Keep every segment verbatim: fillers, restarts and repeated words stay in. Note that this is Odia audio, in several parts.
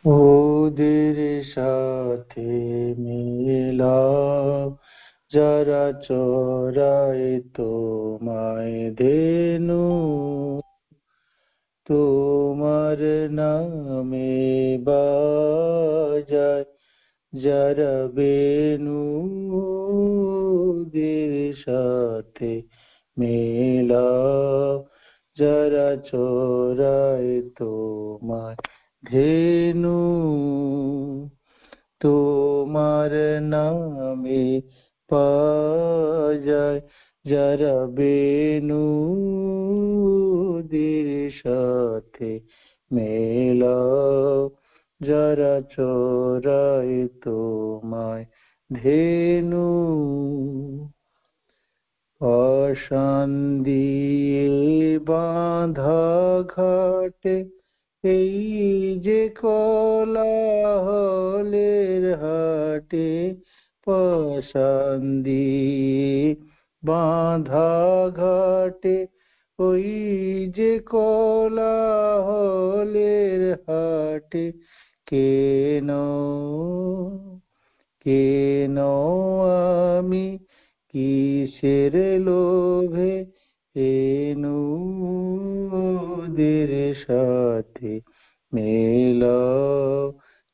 ওদের সাথে মেলাও, যারা চড়ায় তোমায় ধেনু, তোমার নামে বাজায় যারা বেনু, ওদের সাথে মেলাও, যারা চড়ায় তোমায় ধেনু, তোমার নামে বাজায় যারা বেনু, ওদের সাথে মেলাও, যারা চড়ায় তোমায় ধেনু। পাষাণ দিয়ে বাঁধা ঘাটে এই যে কোলাহলের হাটে, পাষাণ দিয়ে বাঁধা ঘাটে ওই যে কোলাহলের হাটে, কেন কেন আমি কিসের লোভে এনু, ওদের সাথে মেলাও,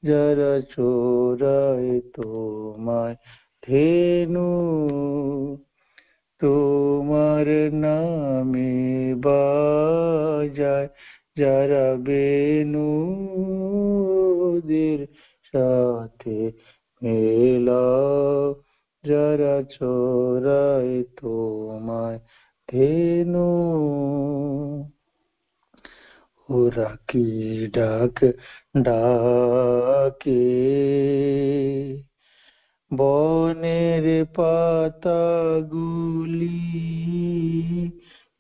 যারা চোরায় তোমায় ধেনু, তোমার নামে বাজায় যারা বেনু, ওদের সাথে মেলাও, যারা চোরায় তোমায় ধেনু। ওরা কি ডাক ডাকে বনের পাতাগুলি,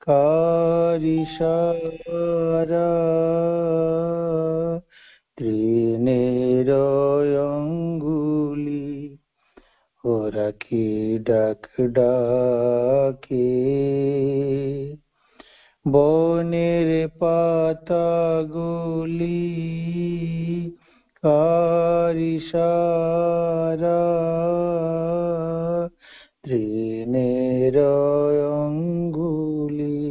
কার ইশারা তৃণের অঙ্গুলি, ওরা কি ডাক ডাকে বনের পাতাগুলি, কার ইশারা তৃণের অঙ্গুলি।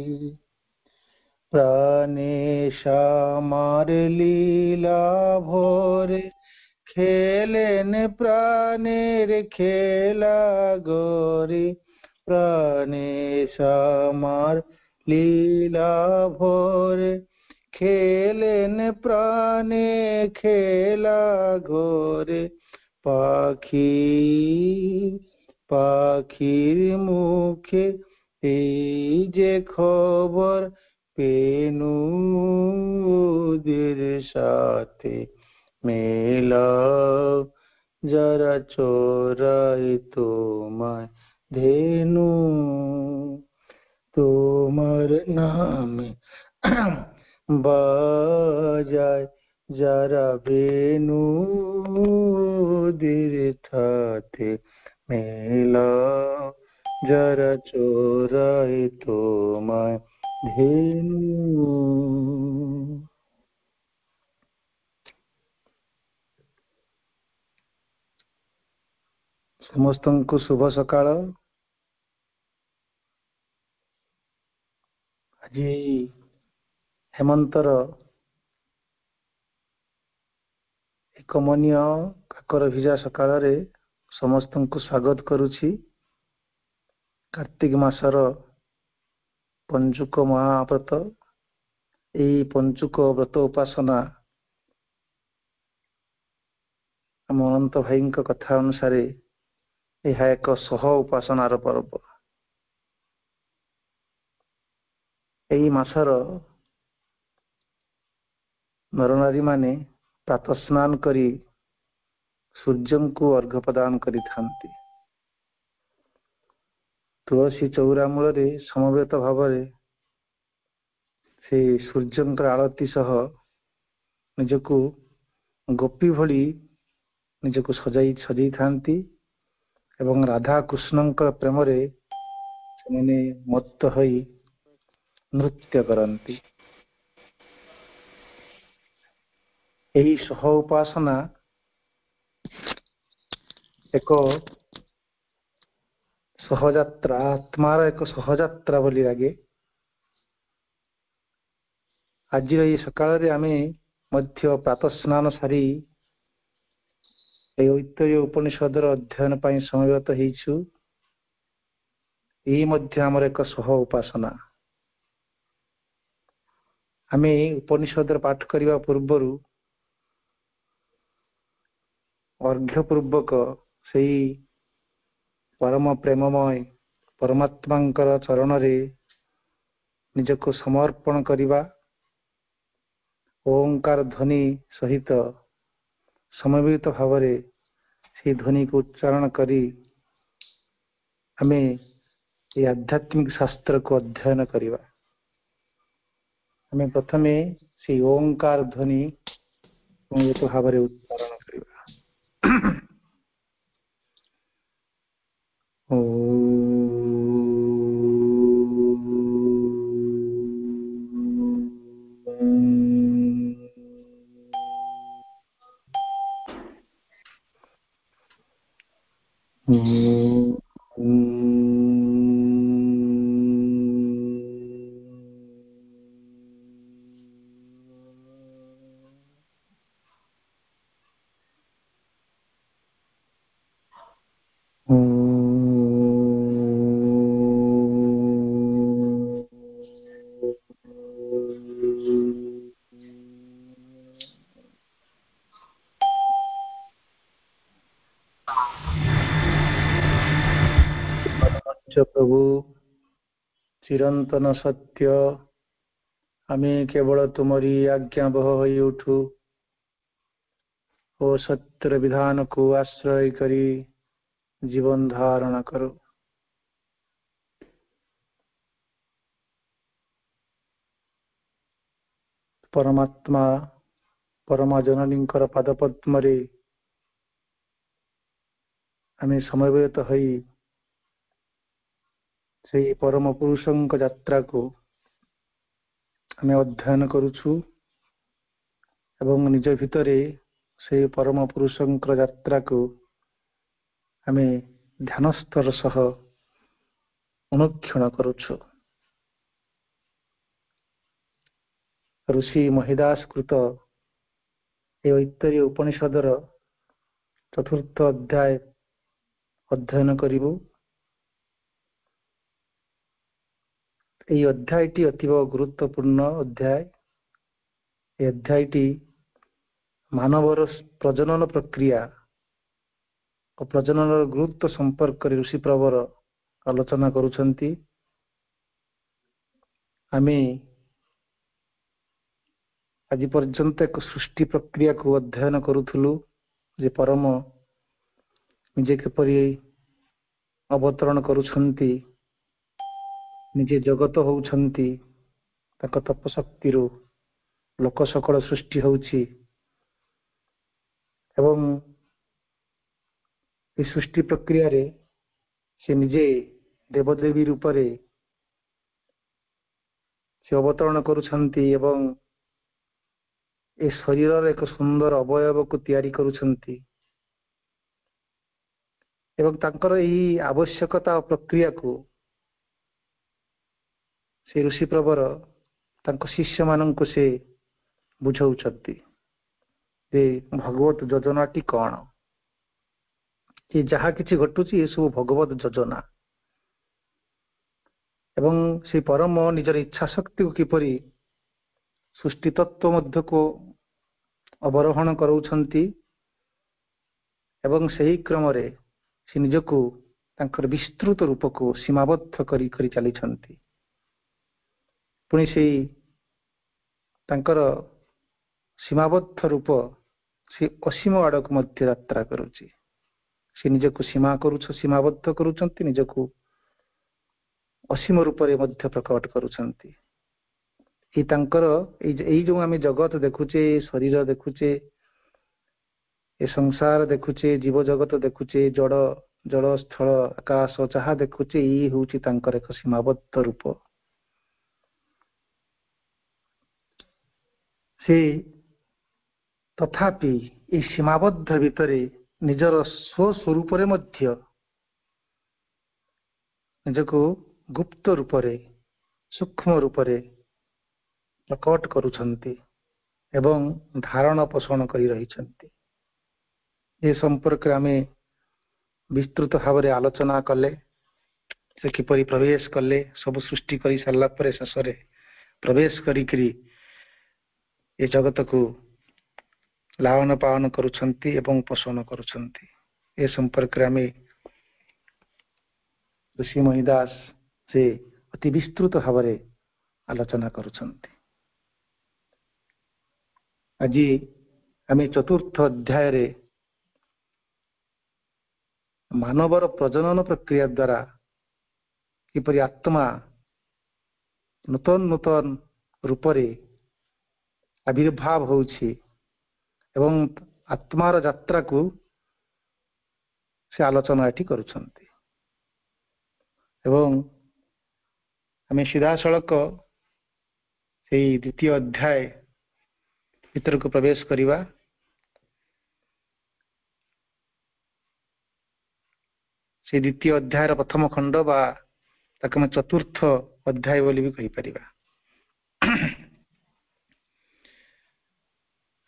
প্রাণে শ্যামার লীলা ভরে খেলেন প্রাণের খেলা গরে, প্রাণে শ্যামার লীলা ভরে খেলেন প্রাণে খেলা ঘরে, পাখি পাখির মুখে এই যে খবর পেনু, ওদের সাথে মেলাও, যারা চোরায় তোমায় ধেনু, তোমার নামে বাজায় যারা বেনু, ওদের সাথে মেলাও, যারা চোরায় তোমায় ধেনু। ସମସ୍ତଙ୍କୁ ଶୁଭ ସକାଳ। ଆଜି ହେମନ୍ତର ଏକ କମନୀୟ କାକର ଭିଜା ସକାଳରେ ସମସ୍ତଙ୍କୁ ସ୍ୱାଗତ କରୁଛି। କାର୍ତ୍ତିକ ମାସର ପଞ୍ଚୁକ ମହାବ୍ରତ, ଏଇ ପଞ୍ଚୁକ ବ୍ରତ ଉପାସନା ଆମ ଅନନ୍ତ ଭାଇଙ୍କ କଥା ଅନୁସାରେ ଏହା ଏକ ସହ ଉପାସନାର ପର୍ବ। ଏଇ ମାସର ନରନାରୀ ମାନେ ପ୍ରାତଃ ସ୍ନାନ କରି ସୂର୍ଯ୍ୟଙ୍କୁ ଅର୍ଘ୍ୟ ପ୍ରଦାନ କରିଥାନ୍ତି। ତୁଳସୀ ଚଉରା ମୂଳରେ ସମବେତ ଭାବରେ ସେ ସୂର୍ଯ୍ୟଙ୍କର ଆଳତି ସହ ନିଜକୁ ଗୋପୀ ଭଳି ନିଜକୁ ସଜାଇ ସଜେଇଥାନ୍ତି ଏବଂ ରାଧା କୃଷ୍ଣଙ୍କର ପ୍ରେମରେ ସେମାନେ ମତ୍ତ ହୋଇ ନୃତ୍ୟ କରନ୍ତି। ଏହି ସହ ଉପାସନା ଏକ ସହଯାତ୍ରା, ଆତ୍ମାର ଏକ ସହଯାତ୍ରା ବୋଲି ଲାଗେ। ଆଜିର ଏହି ସକାଳରେ ଆମେ ମଧ୍ୟ ପ୍ରାତଃ ସ୍ନାନ ସାରି ଏହି ଐତରୀୟ ଉପନିଷଦର ଅଧ୍ୟୟନ ପାଇଁ ସମବେତ ହେଇଛୁ। ଏହି ମଧ୍ୟ ଆମର ଏକ ସହ ଉପାସନା। ଆମେ ଉପନିଷଦର ପାଠ କରିବା ପୂର୍ବରୁ ଅର୍ଘ୍ୟ ପୂର୍ବକ ସେଇ ପରମ ପ୍ରେମମୟ ପରମାତ୍ମାଙ୍କର ଚରଣରେ ନିଜକୁ ସମର୍ପଣ କରିବା। ଓଙ୍କାର ଧ୍ୱନି ସହିତ ସମବେତ ଭାବରେ ସେଇ ଧ୍ୱନିକୁ ଉଚ୍ଚାରଣ କରି ଆମେ ଏହି ଆଧ୍ୟାତ୍ମିକ ଶାସ୍ତ୍ରକୁ ଅଧ୍ୟୟନ କରିବା। ଆମେ ପ୍ରଥମେ ସେଇ ଓଙ୍କାର ଧ୍ୱନି ସମବେତ ଭାବରେ ଉଚ୍ଚାରଣ କରିବା। ପ୍ରଭୁ ଚିରନ୍ତନ ସତ୍ୟ, ଆମେ କେବଳ ତୁମରି ଆଜ୍ଞାବହ ହୋଇ ଉଠୁ ଓ ସତ୍ୟର ବିଧାନକୁ ଆଶ୍ରୟ କରି ଜୀବନ ଧାରଣ କରୁ। ପରମାତ୍ମା ପରମା ଜନନୀଙ୍କର ପାଦପଦ୍ମରେ ଆମେ ସମବେତ ହୋଇ ସେଇ ପରମ ପୁରୁଷଙ୍କ ଯାତ୍ରାକୁ ଆମେ ଅଧ୍ୟୟନ କରୁଛୁ ଏବଂ ନିଜ ଭିତରେ ସେଇ ପରମ ପୁରୁଷଙ୍କର ଯାତ୍ରାକୁ ଆମେ ଧ୍ୟାନସ୍ତର ସହ ଅନୁକ୍ଷଣ କରୁଛୁ। ଋଷି ମହିଦାସ କୃତ ଏ ଐତରୀୟ ଉପନିଷଦର ଚତୁର୍ଥ ଅଧ୍ୟାୟ ଅଧ୍ୟୟନ କରିବୁ। ଏହି ଅଧ୍ୟାୟଟି ଅତୀବ ଗୁରୁତ୍ୱପୂର୍ଣ୍ଣ ଅଧ୍ୟାୟ। ଏ ଅଧ୍ୟାୟଟି ମାନବର ପ୍ରଜନନ ପ୍ରକ୍ରିୟା ଓ ପ୍ରଜନନର ଗୁରୁତ୍ୱ ସମ୍ପର୍କରେ ଋଷି ପ୍ରବର ଆଲୋଚନା କରୁଛନ୍ତି। ଆମେ ଆଜି ପର୍ଯ୍ୟନ୍ତ ଏକ ସୃଷ୍ଟି ପ୍ରକ୍ରିୟାକୁ ଅଧ୍ୟୟନ କରୁଥିଲୁ ଯେ ପରମ ନିଜେ କିପରି ଅବତରଣ କରୁଛନ୍ତି, ନିଜେ ଜଗତ ହଉଛନ୍ତି, ତାଙ୍କ ତପଶକ୍ତିରୁ ଲୋକ ସକଳ ସୃଷ୍ଟି ହଉଛି ଏବଂ ଏ ସୃଷ୍ଟି ପ୍ରକ୍ରିୟାରେ ସେ ନିଜେ ଦେବଦେବୀ ରୂପରେ ସେ ଅବତରଣ କରୁଛନ୍ତି ଏବଂ ଏ ଶରୀରର ଏକ ସୁନ୍ଦର ଅବୟବକୁ ତିଆରି କରୁଛନ୍ତି ଏବଂ ତାଙ୍କର ଏହି ଆବଶ୍ୟକତା ଓ ପ୍ରକ୍ରିୟାକୁ ସେ ଋଷି ପ୍ରବର ତାଙ୍କ ଶିଷ୍ୟମାନଙ୍କୁ ସେ ବୁଝାଉଛନ୍ତି ଯେ ଭଗବତ ଯୋଜନାଟି କଣ, କି ଯାହା କିଛି ଘଟୁଛି ଏସବୁ ଭଗବତ ଯୋଜନା ଏବଂ ସେ ପରମ ନିଜର ଇଚ୍ଛା ଶକ୍ତିକୁ କିପରି ସୃଷ୍ଟି ତତ୍ତ୍ୱ ମଧ୍ୟକୁ ଅବରୋହଣ କରାଉଛନ୍ତି ଏବଂ ସେହି କ୍ରମରେ ସେ ନିଜକୁ ତାଙ୍କର ବିସ୍ତୃତ ରୂପକୁ ସୀମାବଦ୍ଧ କରି କରି ଚାଲିଛନ୍ତି। ପୁଣି ସେଇ ତାଙ୍କର ସୀମାବଦ୍ଧ ରୂପ ସେ ଅସୀମ ଆଡ଼କୁ ମଧ୍ୟ ଯାତ୍ରା କରୁଛି। ସେ ନିଜକୁ ସୀମା କରୁଛ ସୀମାବଦ୍ଧ କରୁଛନ୍ତି, ନିଜକୁ ଅସୀମ ରୂପରେ ମଧ୍ୟ ପ୍ରକଟ କରୁଛନ୍ତି। ଏଇ ତାଙ୍କର ଏଇ ଏଇ ଯୋଉ ଆମେ ଜଗତ ଦେଖୁଛେ, ଶରୀର ଦେଖୁଛେ, ଏ ସଂସାର ଦେଖୁଛେ, ଜୀବ ଜଗତ ଦେଖୁଛେ, ଜଡ଼ ଜଳ ସ୍ଥଳ ଆକାଶ ଯାହା ଦେଖୁଛେ, ଏଇ ହେଉଛି ତାଙ୍କର ଏକ ସୀମାବଦ୍ଧ ରୂପ। ସେ ତଥାପି ଏଇ ସୀମାବଦ୍ଧ ଭିତରେ ନିଜର ସ୍ୱସ୍ୱରୂପରେ ମଧ୍ୟ ନିଜକୁ ଗୁପ୍ତ ରୂପରେ, ସୂକ୍ଷ୍ମ ରୂପରେ ପ୍ରକଟ କରୁଛନ୍ତି ଏବଂ ଧାରଣ ପୋଷଣ କରି ରହିଛନ୍ତି। ଏ ସମ୍ପର୍କରେ ଆମେ ବିସ୍ତୃତ ଭାବରେ ଆଲୋଚନା କଲେ। ସେ କିପରି ପ୍ରବେଶ କଲେ, ସବୁ ସୃଷ୍ଟି କରି ସାରିଲା ପରେ ଶେଷରେ ପ୍ରବେଶ କରିକିରି ଏ ଜଗତକୁ ଲାଳନ ପାଳନ କରୁଛନ୍ତି ଏବଂ ପୋଷଣ କରୁଛନ୍ତି। ଏ ସମ୍ପର୍କରେ ଆମେ ଋଷି ମହିଦାସ ସେ ଅତି ବିସ୍ତୃତ ଭାବରେ ଆଲୋଚନା କରୁଛନ୍ତି। ଆଜି ଆମେ ଚତୁର୍ଥ ଅଧ୍ୟାୟରେ ମାନବର ପ୍ରଜନନ ପ୍ରକ୍ରିୟା ଦ୍ୱାରା କିପରି ଆତ୍ମା ନୂତନ ନୂତନ ରୂପରେ ଆବିର୍ଭାବ ହେଉଛି ଏବଂ ଆତ୍ମାର ଯାତ୍ରାକୁ ସେ ଆଲୋଚନା ଏଠି କରୁଛନ୍ତି। ଏବଂ ଆମେ ସିଧାସଳଖ ସେଇ ଦ୍ୱିତୀୟ ଅଧ୍ୟାୟ ଭିତରକୁ ପ୍ରବେଶ କରିବା। ସେଇ ଦ୍ୱିତୀୟ ଅଧ୍ୟାୟର ପ୍ରଥମ ଖଣ୍ଡ ବା ତାକୁ ଆମେ ଚତୁର୍ଥ ଅଧ୍ୟାୟ ବୋଲି ବି କହିପାରିବା।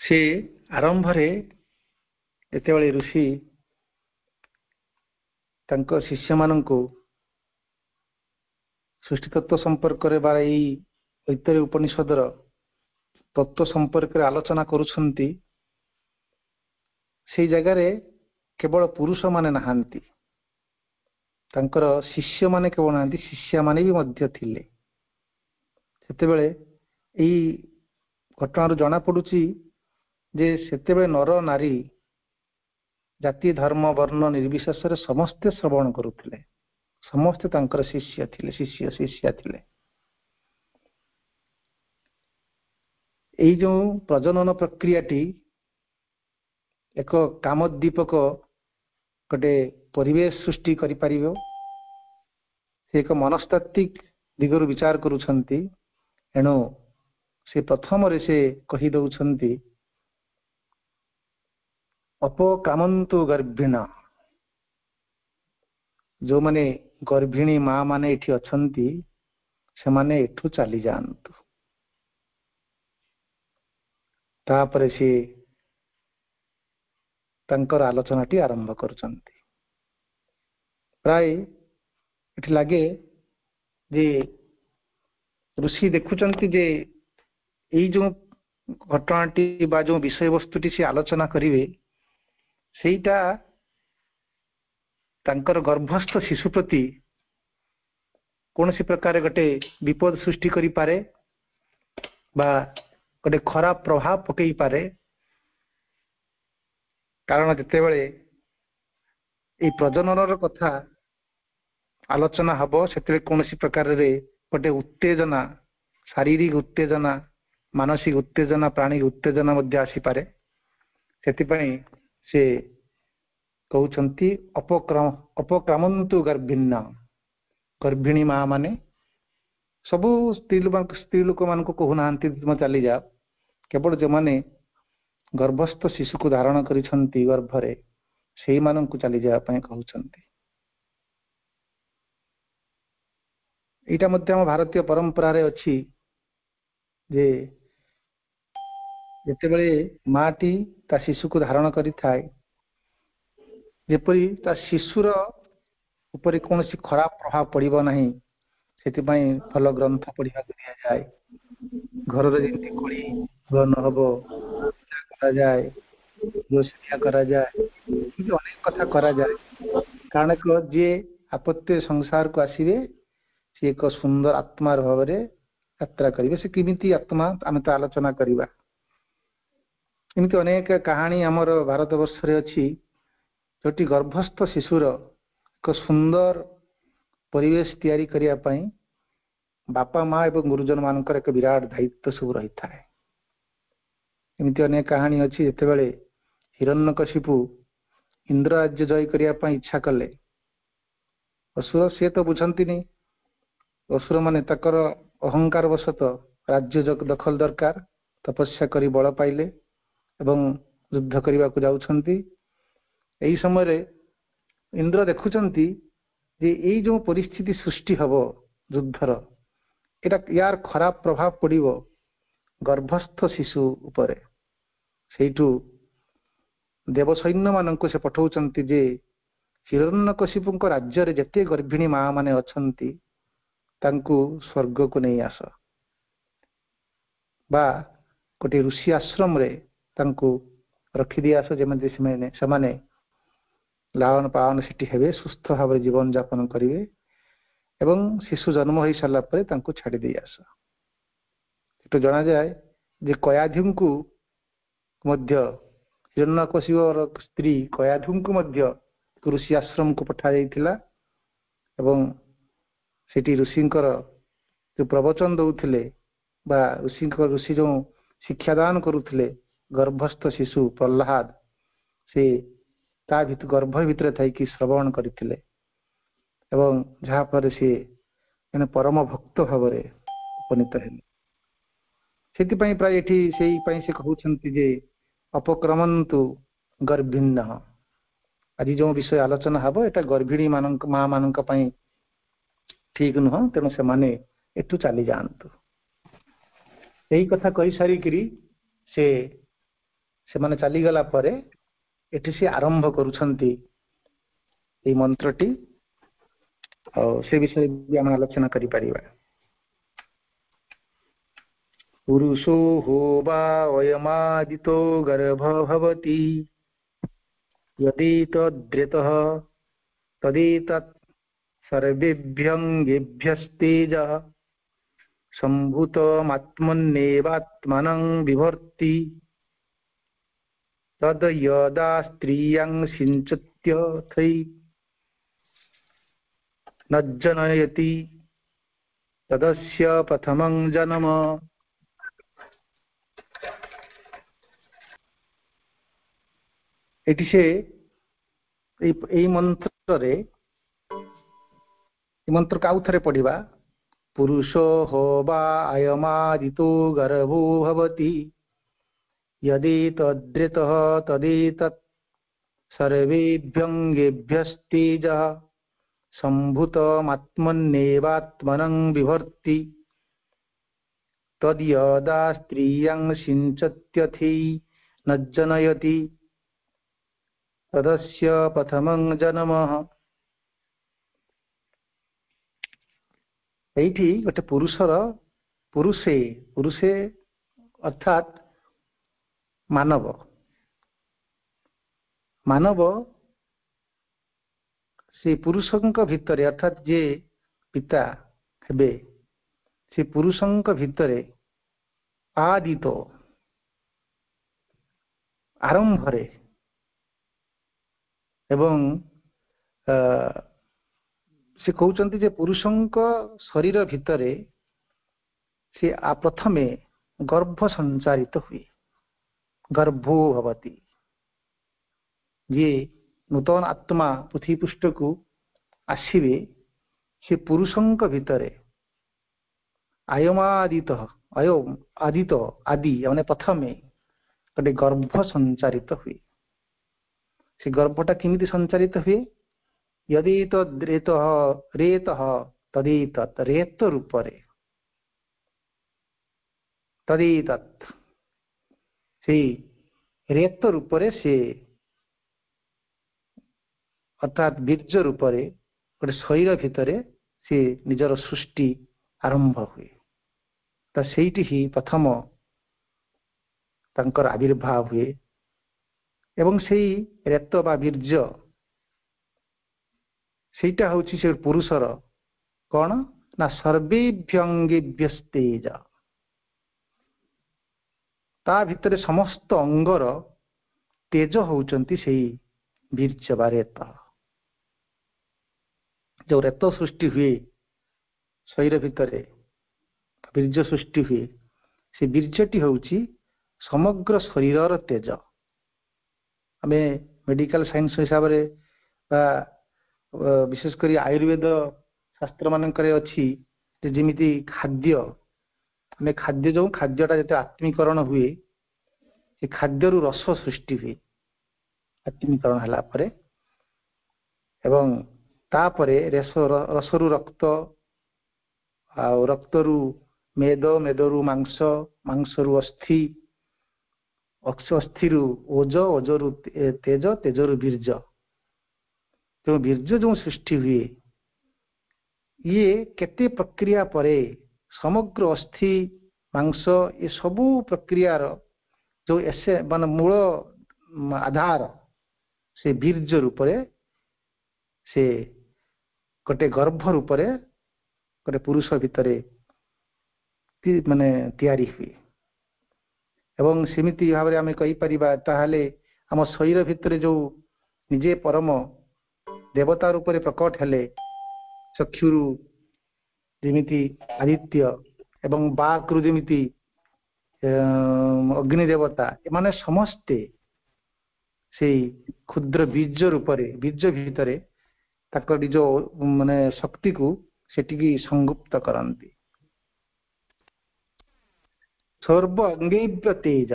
ସେ ଆରମ୍ଭରେ ଯେତେବେଳେ ଋଷି ତାଙ୍କ ଶିଷ୍ୟମାନଙ୍କୁ ସୃଷ୍ଟିତତ୍ତ୍ୱ ସମ୍ପର୍କରେ ବା ଏଇ ଐତିହ୍ୟ ଉପନିଷଦର ତତ୍ତ୍ୱ ସମ୍ପର୍କରେ ଆଲୋଚନା କରୁଛନ୍ତି, ସେଇ ଜାଗାରେ କେବଳ ପୁରୁଷମାନେ ନାହାନ୍ତି, ତାଙ୍କର ଶିଷ୍ୟମାନେ କେବଳ ନାହାନ୍ତି, ଶିଷ୍ୟାମାନେ ବି ମଧ୍ୟ ଥିଲେ। ସେତେବେଳେ ଏଇ ଘଟଣାରୁ ଜଣାପଡୁଛି ଯେ ସେତେବେଳେ ନର ନାରୀ ଜାତି ଧର୍ମ ବର୍ଣ୍ଣ ନିର୍ବିଶେଷରେ ସମସ୍ତେ ଶ୍ରବଣ କରୁଥିଲେ, ସମସ୍ତେ ତାଙ୍କର ଶିଷ୍ୟ ଥିଲେ, ଶିଷ୍ୟ ଶିଷ୍ୟା ଥିଲେ। ଏଇ ଯେଉଁ ପ୍ରଜନନ ପ୍ରକ୍ରିୟାଟି ଏକ କାମୋଦ୍ଦୀପକ ଗୋଟେ ପରିବେଶ ସୃଷ୍ଟି କରିପାରିବ, ସେ ଏକ ମନସ୍ତାତ୍ତ୍ୱିକ ଦିଗରୁ ବିଚାର କରୁଛନ୍ତି। ଏଣୁ ସେ ପ୍ରଥମରେ ସେ କହି ଦଉଛନ୍ତି, ଅପକାମନ୍ତୁ ଗର୍ଭିଣ। ଯୋଉମାନେ ଗର୍ଭିଣୀ ମା ମାନେ ଏଠି ଅଛନ୍ତି ସେମାନେ ଏଠୁ ଚାଲିଯାଆନ୍ତୁ। ତାପରେ ସିଏ ତାଙ୍କର ଆଲୋଚନାଟି ଆରମ୍ଭ କରୁଛନ୍ତି। ପ୍ରାୟ ଏଠି ଲାଗେ ଯେ ଋଷି ଦେଖୁଛନ୍ତି ଯେ ଏଇ ଯୋଉ ଘଟଣାଟି ବା ଯୋଉ ବିଷୟବସ୍ତୁଟି ସେ ଆଲୋଚନା କରିବେ ସେଇଟା ତାଙ୍କର ଗର୍ଭସ୍ଥ ଶିଶୁ ପ୍ରତି କୌଣସି ପ୍ରକାର ଗୋଟେ ବିପଦ ସୃଷ୍ଟି କରିପାରେ ବା ଗୋଟେ ଖରାପ ପ୍ରଭାବ ପକେଇ ପାରେ। କାରଣ ଯେତେବେଳେ ଏଇ ପ୍ରଜନନର କଥା ଆଲୋଚନା ହବ ସେତେବେଳେ କୌଣସି ପ୍ରକାରରେ ଗୋଟେ ଉତ୍ତେଜନା, ଶାରୀରିକ ଉତ୍ତେଜନା, ମାନସିକ ଉତ୍ତେଜନା, ପ୍ରାଣିକ ଉତ୍ତେଜନା ମଧ୍ୟ ଆସିପାରେ। ସେଥିପାଇଁ ସେ କହୁଛନ୍ତି ଅପକ୍ରମ ଅପକ୍ରମନ୍ତୁ ଗର୍ଭିଣ। ଗର୍ଭିଣୀ ମା ମାନେ ସବୁ ସ୍ତ୍ରୀ ଲୋକ ସ୍ତ୍ରୀ ଲୋକମାନଙ୍କୁ କହୁନାହାନ୍ତି ତୁମେ ଚାଲିଯାଅ, କେବଳ ଯେଉଁମାନେ ଗର୍ଭସ୍ଥ ଶିଶୁକୁ ଧାରଣ କରିଛନ୍ତି ଗର୍ଭରେ ସେଇମାନଙ୍କୁ ଚାଲିଯିବା ପାଇଁ କହୁଛନ୍ତି। ଏଇଟା ମଧ୍ୟ ଆମ ଭାରତୀୟ ପରମ୍ପରାରେ ଅଛି ଯେ ଯେତେବେଳେ ମାଟି ତା ଶିଶୁକୁ ଧାରଣ କରିଥାଏ, ଯେପରି ତା ଶିଶୁର ଉପରେ କୌଣସି ଖରାପ ପ୍ରଭାବ ପଡ଼ିବ ନାହିଁ ସେଥିପାଇଁ ଭଲ ଗ୍ରନ୍ଥ ପଢିବାକୁ ଦିଆଯାଏ। ଘରରେ ଯେମିତି କଳି ନ ହବ କରାଯାଏ, ଶିକ୍ଷା କରାଯାଏ, ଏମିତି ଅନେକ କଥା କରାଯାଏ। କାରଣ ଯିଏ ଆପତ୍ତି ସଂସାରକୁ ଆସିବେ ସିଏ ଏକ ସୁନ୍ଦର ଆତ୍ମାର ଭାବରେ ଯାତ୍ରା କରିବେ। ସେ କେମିତି ଆତ୍ମା ଆମେ ତ ଆଲୋଚନା କରିବା। ଏମିତି ଅନେକ କାହାଣୀ ଆମର ଭାରତ ବର୍ଷରେ ଅଛି ଯୋଉଠି ଗର୍ଭସ୍ଥ ଶିଶୁର ଏକ ସୁନ୍ଦର ପରିବେଶ ତିଆରି କରିବା ପାଇଁ ବାପା ମା ଏବଂ ଗୁରୁଜନ ମାନଙ୍କର ଏକ ବିରାଟ ଦାୟିତ୍ୱ ସବୁ ରହିଥାଏ। ଏମିତି ଅନେକ କାହାଣୀ ଅଛି ଯେତେବେଳେ ହିରଣ୍ୟକଶିପୁ ଇନ୍ଦ୍ର ରାଜ୍ୟ ଜୟ କରିବା ପାଇଁ ଇଚ୍ଛା କଲେ, ଅସୁର ସିଏ ତ ବୁଝନ୍ତିନି, ଅସୁର ମାନେ ତାଙ୍କର ଅହଙ୍କାର ବଶତଃ ରାଜ୍ୟ ଦଖଲ ଦରକାର, ତପସ୍ୟା କରି ବଳ ପାଇଲେ ଏବଂ ଯୁଦ୍ଧ କରିବାକୁ ଯାଉଛନ୍ତି। ଏହି ସମୟରେ ଇନ୍ଦ୍ର ଦେଖୁଛନ୍ତି ଯେ ଏଇ ଯୋଉ ପରିସ୍ଥିତି ସୃଷ୍ଟି ହବ ଯୁଦ୍ଧର, ଏଇଟା ୟାର ଖରାପ ପ୍ରଭାବ ପଡ଼ିବ ଗର୍ଭସ୍ଥ ଶିଶୁ ଉପରେ। ସେଇଠୁ ଦେବସୈନ୍ୟମାନଙ୍କୁ ସେ ପଠଉଛନ୍ତି ଯେ ହିରଣ୍ୟକଶିପୁଙ୍କ ରାଜ୍ୟରେ ଯେତେ ଗର୍ଭିଣୀ ମା ମାନେ ଅଛନ୍ତି ତାଙ୍କୁ ସ୍ୱର୍ଗକୁ ନେଇ ଆସ ବା ଗୋଟିଏ ଋଷି ଆଶ୍ରମରେ ତାଙ୍କୁ ରଖିଦେଇ ଆସ, ଯେମିତି ସେମାନେ ସେମାନେ ଲାଳନ ପାଳନ ସେଠି ହେବେ, ସୁସ୍ଥ ଭାବରେ ଜୀବନ ଯାପନ କରିବେ ଏବଂ ଶିଶୁ ଜନ୍ମ ହେଇ ସାରିଲା ପରେ ତାଙ୍କୁ ଛାଡ଼ି ଦେଇ ଆସ। ସେଠୁ ଜଣାଯାଏ ଯେ କୟାଧୁଙ୍କୁ ମଧ୍ୟ, ହିରଣ୍ୟକଶିପୁର ସ୍ତ୍ରୀ କୟାଧୁଙ୍କୁ ମଧ୍ୟ ଋଷି ଆଶ୍ରମକୁ ପଠାଯାଇଥିଲା ଏବଂ ସେଠି ଋଷିଙ୍କର ଯୋଉ ପ୍ରବଚନ ଦଉଥିଲେ ବା ଋଷିଙ୍କ ଋଷି ଯୋଉ ଶିକ୍ଷାଦାନ କରୁଥିଲେ, ଗର୍ଭସ୍ଥ ଶିଶୁ ପ୍ରହ୍ଲାଦ ସେ ତା ଭିତ ଗର୍ଭ ଭିତରେ ଥାଇକି ଶ୍ରବଣ କରିଥିଲେ ଏବଂ ଯାହାଫଳରେ ସିଏ ଜଣେ ପରମ ଭକ୍ତ ଭାବରେ ଉପନୀତ ହେଲେ। ସେଥିପାଇଁ ପ୍ରାୟ ଏଠି ସେଇ ପାଇଁ ସେ କହୁଛନ୍ତି ଯେ ଅପକ୍ରମନ୍ତୁ ଗର୍ଭିଣ୍ୟ। ଆଜି ଯୋଉ ବିଷୟ ଆଲୋଚନା ହବ ଏଟା ଗର୍ଭିଣୀ ମାନଙ୍କ ମା ମାନଙ୍କ ପାଇଁ ଠିକ ନୁହଁ, ତେଣୁ ସେମାନେ ଏଠୁ ଚାଲି ଯାଆନ୍ତୁ। ଏଇ କଥା କହିସାରିକିରି ସେ ସେମାନେ ଚାଲିଗଲା ପରେ ଏଠି ସେ ଆରମ୍ଭ କରୁଛନ୍ତି ଏଇ ମନ୍ତ୍ରଟି, ଆଉ ସେ ବିଷୟରେ ବି ଆମେ ଆଲୋଚନା କରିପାରିବା। ପୁରୁଷୋ ହୋ ବା ଅୟମାଦିतो ଗର୍ଭ ଭବତି ଯଦିତଦ୍ରେତଃ ତଦେତत् ସର୍ବେଭ୍ୟଙ୍ଗେଭ୍ୟସ୍ତେଜଃ ସମ୍ଭୂତମାତ୍ମନ୍ୟେବାତ୍ମନଂ ବିଭର୍ତି ତଦ ଯଦା ସ୍ତ୍ରୀୟଂ ସିଞ୍ଚତ୍ୟଥै ନଜ୍ଜନୟତି ତଦସ୍ୟ ପ୍ରଥମଂ ଜନ୍ମ। ଏଠି ସେ ଏଇ ମନ୍ତ୍ରରେ, ଏ ମନ୍ତ୍ରକୁ ଆଉ ଥରେ ପଢିବା। ପୁରୁଷୋ ହୋ ବା ଅୟମାଦିतो ଗର୍ଭୋ ଭବତି यदि तद्रेतः तदेतत् सर्वेभ्यङ्गेभ्यस्तेजः सम्भूतमात्मन्येवात्मनं बिभर्ति तद्यदा स्त्रियं सिञ्चत्यथि नज्जनयति तदस्य प्रथमं जन्म। ଏଇଠି ଗୋଟେ ପୁରୁଷର ପୁରୁଷେ ପୁରୁଷେ ଅର୍ଥାତ୍ ମାନବ, ମାନବ ସେ ପୁରୁଷଙ୍କ ଭିତରେ ଅର୍ଥାତ୍ ଯିଏ ପିତା ହେବେ ସେ ପୁରୁଷଙ୍କ ଭିତରେ ଆଦିତ ଆରମ୍ଭରେ ଏବଂ ସେ କହୁଛନ୍ତି ଯେ ପୁରୁଷଙ୍କ ଶରୀର ଭିତରେ ସେ ପ୍ରଥମେ ଗର୍ଭ ସଞ୍ଚାରିତ ହୁଏ, ଗର୍ଭୋ ଭବତି। ଯିଏ ନୂତନ ଆତ୍ମା ପୃଥିବୀ ପୃଷ୍ଠକୁ ଆସିବେ ସେ ପୁରୁଷଙ୍କ ଭିତରେ ଆୟମାଦିତ ଅୟ ଆଦିତ ଆଦି ମାନେ ପ୍ରଥମେ ଗୋଟେ ଗର୍ଭ ସଞ୍ଚାରିତ ହୁଏ। ସେ ଗର୍ଭଟା କେମିତି ସଞ୍ଚାରିତ ହୁଏ? यदि ତଦ୍ରେତଃ ରେତଃ ତଦେତत् ରେତ ରୂପରେ ତଦେତत् ସେଇ ରେତ ରୂପରେ ସେ ଅର୍ଥାତ୍ ବୀର୍ଯ୍ୟ ରୂପରେ ଗୋଟେ ଶରୀର ଭିତରେ ସେ ନିଜର ସୃଷ୍ଟି ଆରମ୍ଭ ହୁଏ। ତ ସେଇଠି ହିଁ ପ୍ରଥମ ତାଙ୍କର ଆବିର୍ଭାବ ହୁଏ ଏବଂ ସେଇ ରେତ ବା ବୀର୍ଯ୍ୟ ସେଇଟା ହଉଛି ସେ ପୁରୁଷର କଣ ନା ସର୍ବେଭ୍ୟଙ୍ଗେଭ୍ୟସ୍ତେଜ, ତା ଭିତରେ ସମସ୍ତ ଅଙ୍ଗର ତେଜ ହଉଛନ୍ତି ସେଇ ବୀର୍ଯ୍ୟ ବା ରେତ। ଯୋଉ ରେତ ସୃଷ୍ଟି ହୁଏ ଶରୀର ଭିତରେ, ବୀର୍ଯ୍ୟ ସୃଷ୍ଟି ହୁଏ, ସେ ବୀର୍ଯ୍ୟଟି ହଉଛି ସମଗ୍ର ଶରୀରର ତେଜ। ଆମେ ମେଡିକାଲ ସାଇନ୍ସ ହିସାବରେ ବା ବିଶେଷ କରି ଆୟୁର୍ବେଦ ଶାସ୍ତ୍ର ମାନଙ୍କରେ ଅଛି ଯେ ଯେମିତି ଖାଦ୍ୟ, ଆମେ ଖାଦ୍ୟ ଯୋଉ ଖାଦ୍ୟଟା ଯେତେ ଆତ୍ମୀକରଣ ହୁଏ, ସେ ଖାଦ୍ୟରୁ ରସ ସୃଷ୍ଟି ହୁଏ ଆତ୍ମୀକରଣ ହେଲା ପରେ, ଏବଂ ତାପରେ ରସ ରସରୁ ରକ୍ତ, ଆଉ ରକ୍ତରୁ ମେଦ, ମେଦରୁ ମାଂସ, ମାଂସରୁ ଅସ୍ଥି, ଅସ୍ଥିରୁ ଓଜ, ଓଜରୁ ତେଜ, ତେଜରୁ ବୀର୍ଯ୍ୟ। ତେଣୁ ବୀର୍ଯ୍ୟ ଯେଉଁ ସୃଷ୍ଟି ହୁଏ, ଇଏ କେତେ ପ୍ରକ୍ରିୟା ପରେ ସମଗ୍ର ଅସ୍ଥି ମାଂସ ଏ ସବୁ ପ୍ରକ୍ରିୟାର ଯୋଉ ଏସେ ମାନେ ମୂଳ ଆଧାର ସେ ବୀର୍ଯ୍ୟ ରୂପରେ, ସେ ଗୋଟେ ଗର୍ଭ ରୂପରେ ଗୋଟେ ପୁରୁଷ ଭିତରେ ମାନେ ତିଆରି ହୁଏ। ଏବଂ ସେମିତି ଭାବରେ ଆମେ କହିପାରିବା ତାହେଲେ ଆମ ଶରୀର ଭିତରେ ଯୋଉ ନିଜେ ପରମ ଦେବତା ରୂପରେ ପ୍ରକଟ ହେଲେ, ଚକ୍ଷୁରୁ ଯେମିତି ଆଦିତ୍ୟ ଏବଂ ବାକ୍ରୁ ଯେମିତି ଅଗ୍ନି ଦେବତା, ଏମାନେ ସମସ୍ତେ ସେଇ କ୍ଷୁଦ୍ର ବୀର୍ଯ୍ୟ ରୂପରେ, ବୀର୍ଯ୍ୟ ଭିତରେ ତାଙ୍କ ନିଜ ମାନେ ଶକ୍ତିକୁ ସେଠିକି ସଂଗୁପ୍ତ କରନ୍ତି। ସର୍ବ ଅଙ୍ଗୈବ୍ୟ ତେଜ,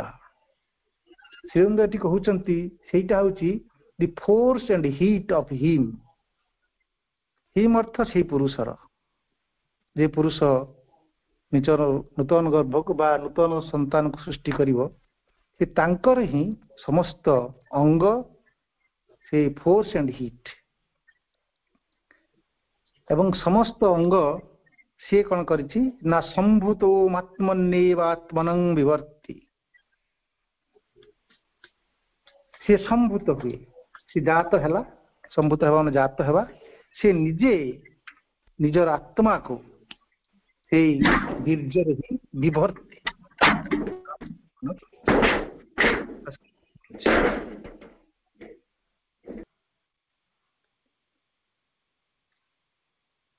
ଶ୍ରୀଅରବିନ୍ଦ ଏଠି କହୁଛନ୍ତି ସେଇଟା ହଉଛି the force and heat of him. Him ଅର୍ଥ ସେଇ ପୁରୁଷର, ଯେ ପୁରୁଷ ନିଜର ନୂତନ ଗର୍ଭକୁ ବା ନୂତନ ସନ୍ତାନକୁ ସୃଷ୍ଟି କରିବ, ସେ ତାଙ୍କର ହିଁ ସମସ୍ତ ଅଙ୍ଗ ସେଇ ଫୋର୍ସ ଆଣ୍ଡ ହିଟ୍, ଏବଂ ସମସ୍ତ ଅଙ୍ଗ ସିଏ କଣ କରିଛି ନା ସମ୍ଭୂତ ଆତ୍ମନ୍ୟେବାତ୍ମନଂ ବିବର୍ତ୍ତି, ସିଏ ସମ୍ଭୂତ ହୁଏ, ସେ ଜାତ ହେଲା, ସମ୍ଭୂତ ହେବା ମାନେ ଜାତ ହେବା, ସେ ନିଜେ ନିଜର ଆତ୍ମାକୁ ସେଇ ବୀର୍ଯ୍ୟରେ ହିଁ ବିଭର୍ତ୍ତି।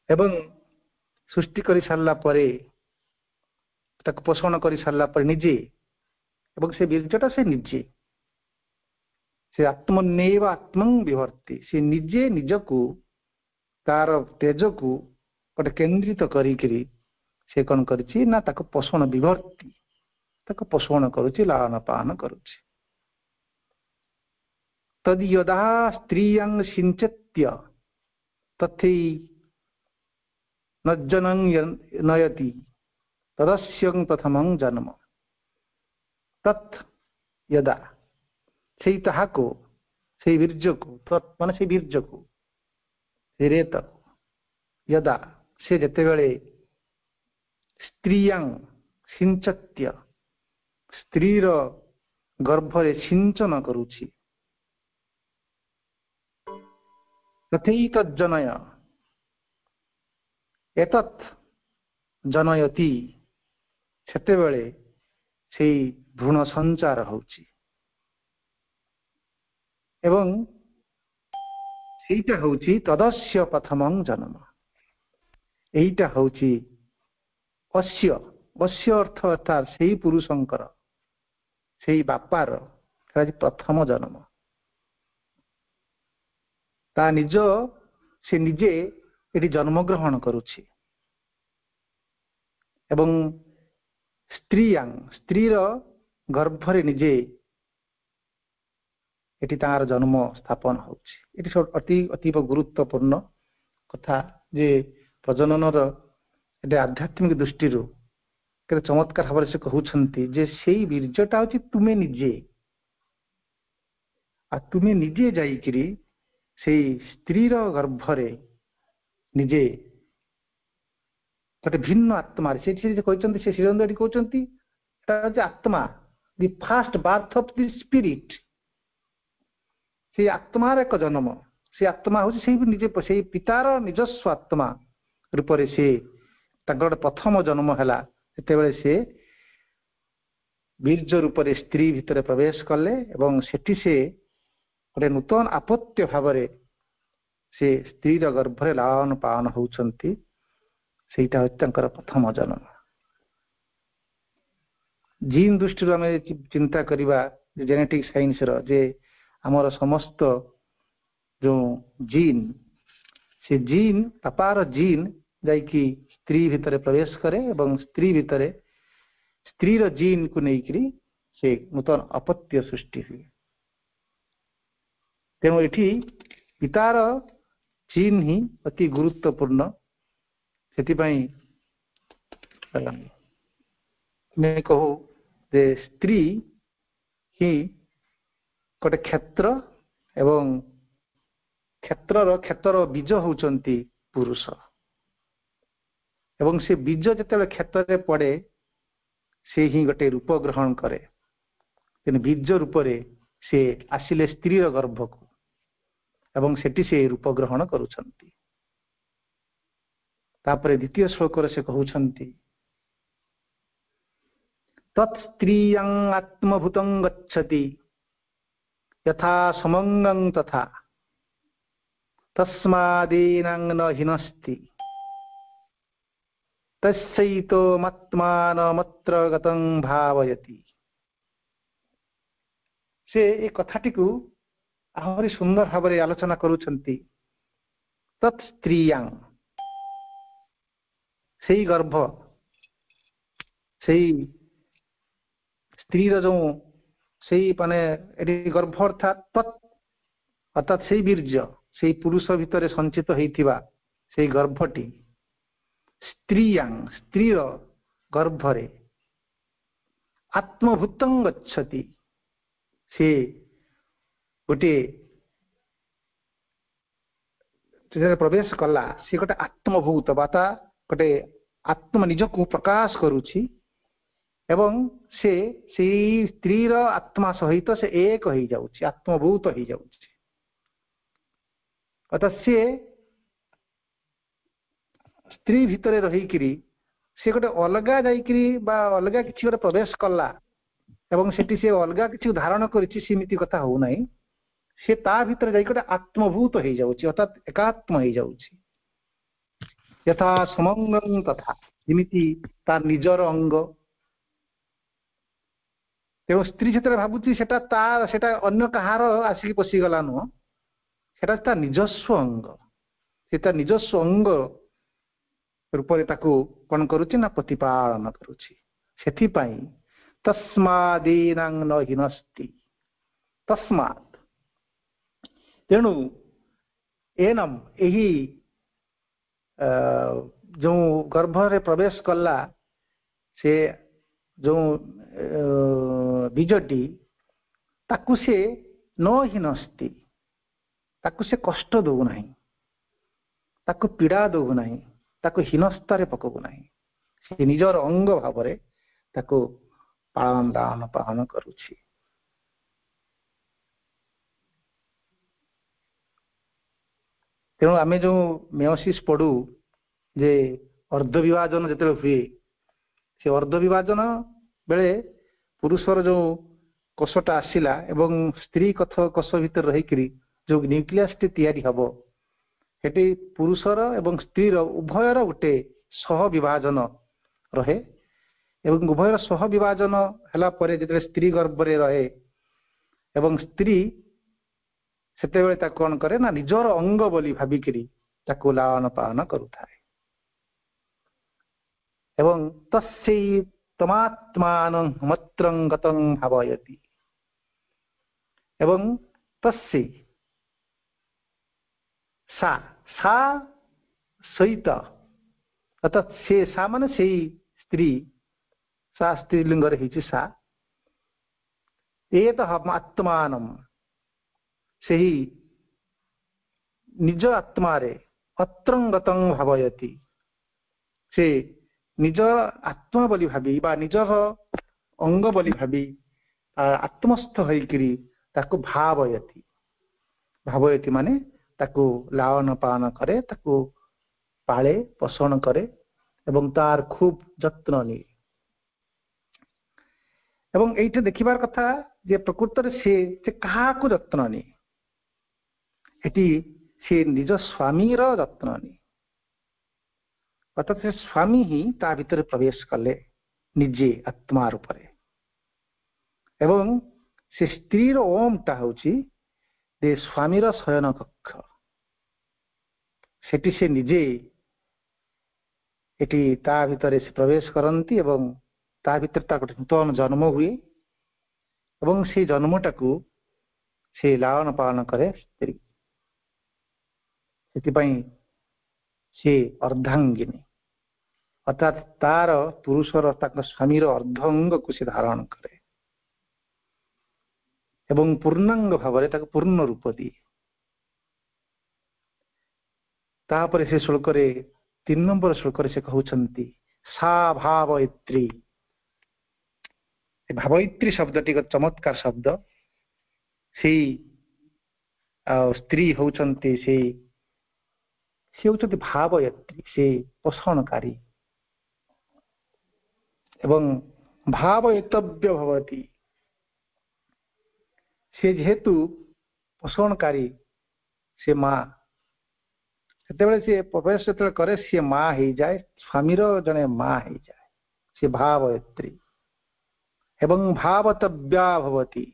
ଏବଂ ସୃଷ୍ଟି କରି ସାରିଲା ପରେ, ତାକୁ ପୋଷଣ କରି ସାରିଲା ପରେ ନିଜେ, ଏବଂ ସେ ବୀର୍ଯ୍ୟଟା ସେ ନିଜେ, ସେ ଆତ୍ମନେବ ଆତ୍ମଂ ବିଭର୍ତ୍ତି, ସେ ନିଜେ ନିଜକୁ ତାର ତେଜକୁ ଗୋଟେ କେନ୍ଦ୍ରିତ କରିକିରି ସେ କଣ କରିଛି ନା ତାକୁ ପୋଷଣ ବିଭର୍ତ୍ତି, ତାକୁ ପୋଷଣ କରୁଛି, ଲାଳନ ପାଳନ କରୁଛି। ତଦ୍ ଯଦା ସ୍ତ୍ରୀୟଂ ସିଞ୍ଚତ୍ୟ ତଥୈ ନଜ୍ଜନଂ ନୟତି ତଦସ୍ୟଂ ପ୍ରଥମଂ ଜନ୍ମ। ତତ୍ ଯଦା, ସେଇ ତାହାକୁ, ସେଇ ବୀର୍ଯ୍ୟକୁ, ତତ୍ ମାନେ ସେଇ ବୀର୍ଯ୍ୟକୁ, ସେଇ ରେତକୁ, ଯଦା ସେ ଯେତେବେଳେ ସ୍ତ୍ରୀୟଂ ସିଞ୍ଚତ୍ୟ, ସ୍ତ୍ରୀର ଗର୍ଭରେ ସିଞ୍ଚନ କରୁଛି, ତଥୈ ତଜ୍ଜନୟ ଏତତ୍ ଜନୟତି, ସେତେବେଳେ ସେଇ ଭ୍ରୂଣ ସଞ୍ଚାର ହଉଛି, ଏବଂ ସେଇଟା ହଉଛି ତଦସ୍ୟ ପ୍ରଥମଂ ଜନ୍ମ। ଏଇଟା ହଉଛି ଅସ୍ୟ, ଅସ୍ୟ ଅର୍ଥ ଅର୍ଥାତ୍ ସେଇ ପୁରୁଷଙ୍କର, ସେଇ ବାପାର ପ୍ରଥମ ଜନ୍ମ। ତା ନିଜ ସେ ନିଜେ ଏଠି ଜନ୍ମଗ୍ରହଣ କରୁଛି, ଏବଂ ସ୍ତ୍ରୀୟାଂ, ସ୍ତ୍ରୀର ଗର୍ଭରେ ନିଜେ ଏଠି ତାର ଜନ୍ମ ସ୍ଥାପନ ହଉଛି। ଏଠି ଅତି ଅତୀବ ଗୁରୁତ୍ୱପୂର୍ଣ୍ଣ କଥା ଯେ ପ୍ରଜନନର ଏଠି ଆଧ୍ୟାତ୍ମିକ ଦୃଷ୍ଟିରୁ କେତେ ଚମତ୍କାର ଭାବରେ ସେ କହୁଛନ୍ତି ଯେ ସେଇ ବୀର୍ଯ୍ୟଟା ହଉଛି ତୁମେ ନିଜେ, ଆଉ ତୁମେ ନିଜେ ଯାଇକିରି ସେଇ ସ୍ତ୍ରୀର ଗର୍ଭରେ ନିଜେ ଗୋଟେ ଭିନ୍ନ ଆତ୍ମାରେ, ସେଠି ସେ କହିଛନ୍ତି, ସେ ଶ୍ରୀଅରବିନ୍ଦ ଏଠି କହୁଛନ୍ତି ଏଟା ହଉଛି ଆତ୍ମା, the first birth of the spirit, ସେଇ ଆତ୍ମାର ଏକ ଜନ୍ମ। ସେ ଆତ୍ମା ହଉଛି ସେଇ ନିଜେ ସେଇ ପିତାର ନିଜସ୍ୱ ଆତ୍ମା ରୂପରେ ସେ ତାଙ୍କର ଗୋଟେ ପ୍ରଥମ ଜନ୍ମ ହେଲା, ସେତେବେଳେ ସେ ବୀର୍ଯ୍ୟ ରୂପରେ ସ୍ତ୍ରୀ ଭିତରେ ପ୍ରବେଶ କଲେ, ଏବଂ ସେଠି ସେ ଗୋଟେ ନୂତନ ଆପତ୍ୟ ଭାବରେ ସେ ସ୍ତ୍ରୀର ଗର୍ଭରେ ଲାଳନ ପାଳନ ହଉଛନ୍ତି। ସେଇଟା ହଉଛି ତାଙ୍କର ପ୍ରଥମ ଜନ୍ମ। ଜିନ୍ ଦୃଷ୍ଟିରୁ ଆମେ ଚିନ୍ତା କରିବା ଜେନେଟିକ୍ ସାଇନ୍ସର, ଯେ ଆମର ସମସ୍ତ ଯୋଉ ଜିନ୍, ସେ ଜିନ୍ ବାପାର ଜିନ୍ ଯାଇକି ସ୍ତ୍ରୀ ଭିତରେ ପ୍ରବେଶ କରେ, ଏବଂ ସ୍ତ୍ରୀ ଭିତରେ ସ୍ତ୍ରୀର ଜିନ୍କୁ ନେଇକିରି ସେ ନୂତନ ଅପତ୍ୟ ସୃଷ୍ଟି ହୁଏ। ତେଣୁ ଏଠି ପିତାର ଚିହ୍ନ ହିଁ ଅତି ଗୁରୁତ୍ୱପୂର୍ଣ୍ଣ। ସେଥିପାଇଁ ଆମେ କହୁ ଯେ ସ୍ତ୍ରୀ ହିଁ ଗୋଟେ କ୍ଷେତ୍ର ଏବଂ କ୍ଷେତ୍ରର କ୍ଷେତର ବୀଜ ହଉଛନ୍ତି ପୁରୁଷ, ଏବଂ ସେ ବୀଜ ଯେତେବେଳେ କ୍ଷେତରେ ପଡେ ସେ ହିଁ ଗୋଟେ ରୂପ ଗ୍ରହଣ କରେ। ତେଣୁ ବୀଜ ରୂପରେ ସେ ଆସିଲେ ସ୍ତ୍ରୀର ଗର୍ଭକୁ ଏବଂ ସେଠି ସେ ରୂପ ଗ୍ରହଣ କରୁଛନ୍ତି। ତାପରେ ଦ୍ୱିତୀୟ ଶ୍ଲୋକରେ ସେ କହୁଛନ୍ତି ତତ୍ ସ୍ତ୍ରୀୟଂ ଆତ୍ମଭୂତଂ ଗଚ୍ଛତି ଯଥା ସମଙ୍ଗଂ ତଥା ତସ୍ମାଦୀନାଂ ନ ହିନସ୍ତି ତସ୍ୟୈତମାତ୍ମାନମତ୍ର ଗତଂ ଭାବୟତି। ସେ ଏ କଥାଟିକୁ ଆହୁରି ସୁନ୍ଦର ଭାବରେ ଆଲୋଚନା କରୁଛନ୍ତି। ତତ୍ ସ୍ତ୍ରୀୟାଂ, ସେଇ ଗର୍ଭ, ସେଇ ସ୍ତ୍ରୀର ଯୋଉ ସେଇ ମାନେ ଏଠି ଗର୍ଭ ଅର୍ଥାତ୍ ତତ୍ ଅର୍ଥାତ୍ ସେଇ ବୀର୍ଯ୍ୟ, ସେଇ ପୁରୁଷ ଭିତରେ ସଞ୍ଚିତ ହେଇଥିବା ସେଇ ଗର୍ଭଟି ସ୍ତ୍ରୀୟାଂ, ସ୍ତ୍ରୀର ଗର୍ଭରେ ଆତ୍ମଭୂତଂ ଗଚ୍ଛତି, ସେ ଗୋଟିଏ ପ୍ରବେଶ କଲା, ସେ ଗୋଟେ ଆତ୍ମଭୂତ ବା ତା ଗୋଟେ ଆତ୍ମ ନିଜକୁ ପ୍ରକାଶ କରୁଛି ଏବଂ ସେ ସେଇ ସ୍ତ୍ରୀର ଆତ୍ମା ସହିତ ସେ ଏକ ହେଇଯାଉଛି, ଆତ୍ମଭୂତ ହେଇଯାଉଛି। ଅର୍ଥାତ୍ ସିଏ ସ୍ତ୍ରୀ ଭିତରେ ରହିକିରି ସେ ଗୋଟେ ଅଲଗା ଯାଇକିରି ବା ଅଲଗା କିଛି ଗୋଟେ ପ୍ରବେଶ କଲା ଏବଂ ସେଠି ସେ ଅଲଗା କିଛି ଧାରଣ କରିଛି, ସେମିତି କଥା ହଉନାହିଁ। ସେ ତା ଭିତରେ ଯାଇକି ଗୋଟେ ଆତ୍ମଭୂତ ହେଇଯାଉଛି, ଅର୍ଥାତ୍ ଏକାତ୍ମ ହେଇଯାଉଛି। ଯଥା ସମଙ୍ଗଂ ତଥା, ଯେମିତି ତା ନିଜର ଅଙ୍ଗ। ତେଣୁ ସ୍ତ୍ରୀ ଯେତେବେଳେ ଭାବୁଛି ସେଟା ତା ସେଟା ଅନ୍ୟ କାହାର ଆସିକି ପଶିଗଲା ନୁହଁ, ସେଟା ତା ନିଜସ୍ୱ ଅଙ୍ଗ। ସେ ତା ନିଜସ୍ୱ ଅଙ୍ଗ ରୂପରେ ତାକୁ କଣ କରୁଛି ନା ପ୍ରତିପାଳନ କରୁଛି। ସେଥିପାଇଁ ତସ୍ମାଦୀନାଂ ନ ହିନସ୍ତି ତସ୍ମାତ୍, ତେଣୁ ଏନମ୍ ଏହି ଯୋଉ ଗର୍ଭରେ ପ୍ରବେଶ କଲା ସେ ଯୋଉ ବୀଜଟି, ତାକୁ ସେ ନ ହିନସ୍ତି, ତାକୁ ସେ କଷ୍ଟ ଦଉନାହିଁ, ତାକୁ ପୀଡ଼ା ଦଉନାହିଁ, ତାକୁ ହୀନସ୍ତାରେ ପକଉନାହିଁ। ସେ ନିଜର ଅଙ୍ଗ ଭାବରେ ତାକୁ ପାଳନ ଦାନ ପାଳନ କରୁଛି। ତେଣୁ ଆମେ ଯୋଉ ମେଓସିସ୍ ପଢୁ ଯେ ଅର୍ଦ୍ଧବିଭାଜନ ଯେତେବେଳେ ହୁଏ, ସେ ଅର୍ଦ୍ଧବିଭାଜନ ବେଳେ ପୁରୁଷର ଯୋଉ କୋଷଟା ଆସିଲା ଏବଂ ସ୍ତ୍ରୀ କଥ କୋଷ ଭିତରେ ରହିକିରି ଯୋଉ ନ୍ୟୁକ୍ଲିୟସଟି ତିଆରି ହବ, ସେଠି ପୁରୁଷର ଏବଂ ସ୍ତ୍ରୀର ଉଭୟର ଗୋଟେ ସହ ବିଭାଜନ ରହେ ଏବଂ ଉଭୟର ସହ ବିଭାଜନ ହେଲା ପରେ ଯେତେବେଳେ ସ୍ତ୍ରୀ ଗର୍ଭରେ ରହେ ଏବଂ ସ୍ତ୍ରୀ ସେତେବେଳେ ତାକୁ କଣ କରେ ନା ନିଜର ଅଙ୍ଗ ବୋଲି ଭାବିକିରି ତାକୁ ଲାଳନ ପାଳନ କରୁଥାଏ। ଏବଂ ତସ୍ୟୈ ତମାତ୍ମାନଂ ମତ୍ରଂ ଗତଂ ଭାବୟତି, ଏବଂ ତସ୍ୟୈ ସା, ସା ସହିତ, ଅର୍ଥାତ୍ ସେ ସା ମାନେ ସେଇ ସ୍ତ୍ରୀ, ସା ସ୍ତ୍ରୀଲିଙ୍ଗରେ ହେଇଛି ସା, ଏତ ଆତ୍ମାନମ୍, ସେହି ନିଜ ଆତ୍ମାରେ ଅତ୍ରଙ୍ଗତଂ ଭାବୟତି, ସେ ନିଜ ଆତ୍ମା ବୋଲି ଭାବି ବା ନିଜର ଅଙ୍ଗ ବୋଲି ଭାବି ଆତ୍ମସ୍ଥ ହେଇକିରି ତାକୁ ଭାବୟତି। ଭାବୟତି ମାନେ ତାକୁ ଲାଳନ ପାଳନ କରେ, ତାକୁ ପାଳେ ପୋଷଣ କରେ ଏବଂ ତାର ଖୁବ ଯତ୍ନ ନିଏ। ଏବଂ ଏଇଠି ଦେଖିବାର କଥା ଯେ ପ୍ରକୃତରେ ସେ ସେ କାହାକୁ ଯତ୍ନ ନିଏ, ଏଠି ସେ ନିଜ ସ୍ୱାମୀର ଯତ୍ନ ନିଏ। ଅର୍ଥାତ୍ ସେ ସ୍ୱାମୀ ହିଁ ତା ଭିତରେ ପ୍ରବେଶ କଲେ ନିଜେ ଆତ୍ମା ରୂପରେ, ଏବଂ ସେ ସ୍ତ୍ରୀର ଓମଟା ହଉଛି ଯେ ସ୍ୱାମୀର ଶୟନ କକ୍ଷ, ସେଠି ସେ ନିଜେ ଏଠି ତା ଭିତରେ ସେ ପ୍ରବେଶ କରନ୍ତି ଏବଂ ତା ଭିତରେ ତା ଗୋଟେ ନୂତନ ଜନ୍ମ ହୁଏ। ଏବଂ ସେଇ ଜନ୍ମଟାକୁ ସେ ଲାଳନ ପାଳନ କରେ ସ୍ତ୍ରୀ। ସେଥିପାଇଁ ସେ ଅର୍ଦ୍ଧାଙ୍ଗିନୀ, ଅର୍ଥାତ୍ ତାର ପୁରୁଷର, ତାଙ୍କ ସ୍ୱାମୀର ଅର୍ଦ୍ଧ ଅଙ୍ଗକୁ ସେ ଧାରଣ କରେ ଏବଂ ପୂର୍ଣ୍ଣାଙ୍ଗ ଭାବରେ ତାକୁ ପୂର୍ଣ୍ଣ ରୂପ ଦିଏ। ତାପରେ ସେ ଶ୍ଲୋକରେ, ତିନି ନମ୍ବର ଶ୍ଲୋକରେ ସେ କହୁଛନ୍ତି ସା ଭାବୟିତ୍ରୀ। ଭାବୟିତ୍ରୀ ଶବ୍ଦଟି ଏକ ଚମତ୍କାର ଶବ୍ଦ। ସେଇ ଆଉ ସ୍ତ୍ରୀ ହଉଛନ୍ତି, ସେଇ ସେ ହଉଛନ୍ତି ଭାବୟତ୍ରୀ, ସେ ପୋଷଣକାରୀ ଏବଂ ଭାବୟିତବ୍ୟ ଭବତୀ। ସେ ଯେହେତୁ ପୋଷଣକାରୀ, ସେ ମା, ସେତେବେଳେ ସେ ପ୍ରବେଶ ଯେତେବେଳେ କରେ ସିଏ ମା ହେଇଯାଏ, ସ୍ୱାମୀର ଜଣେ ମା ହେଇଯାଏ, ସେ ଭାବୟତ୍ରୀ ଏବଂ ଭାବତବ୍ୟା ଭବତୀ।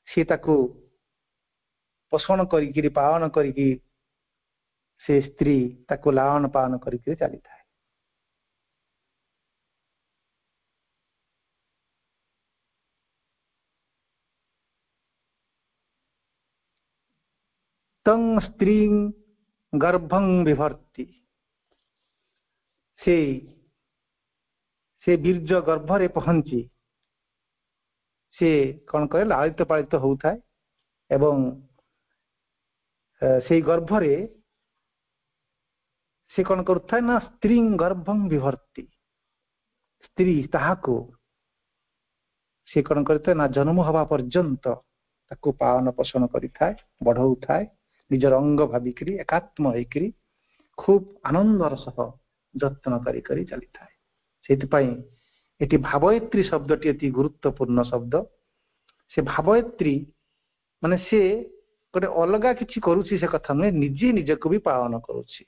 ସିଏ ତାକୁ ପୋଷଣ କରିକିରି, ପାଳନ କରିକି, ସେ ସ୍ତ୍ରୀ ତାକୁ ଲାଳନ ପାଳନ କରିକିରି ଚାଲିଥାଏ। ତଂ ସ୍ତ୍ରୀ ଗର୍ଭଂ ବିଭର୍ତ୍ତି, ସେ ସେ ବୀର୍ଯ୍ୟ ଗର୍ଭରେ ପହଞ୍ଚି ସେ କଣ କରେ, ଲାଳିତ ପାଳିତ ହଉଥାଏ ଏବଂ ସେଇ ଗର୍ଭରେ ସେ କଣ କରୁଥାଏ ନା ସ୍ତ୍ରୀ ଗର୍ଭଂ ବିଭର୍ତ୍ତି, ସ୍ତ୍ରୀ ତାହାକୁ ସେ କଣ କରିଥାଏ ନା ଜନ୍ମ ହବା ପର୍ଯ୍ୟନ୍ତ ତାକୁ ପାଳନ ପୋଷଣ କରିଥାଏ, ବଢଉଥାଏ, ନିଜର ଅଙ୍ଗ ଭାବିକିରି ଏକାତ୍ମ ହେଇକିରି ଖୁବ ଆନନ୍ଦର ସହ ଯତ୍ନ କରି କରି ଚାଲିଥାଏ। ସେଇଥିପାଇଁ ଏଠି ଭାବୟିତ୍ରୀ ଶବ୍ଦଟି ଅତି ଗୁରୁତ୍ୱପୂର୍ଣ୍ଣ ଶବ୍ଦ। ସେ ଭାବୟିତ୍ରୀ ମାନେ ସେ ଗୋଟେ ଅଲଗା କିଛି କରୁଛି ସେ କଥା ନୁହେଁ, ନିଜେ ନିଜକୁ ବି ପାଳନ କରୁଛି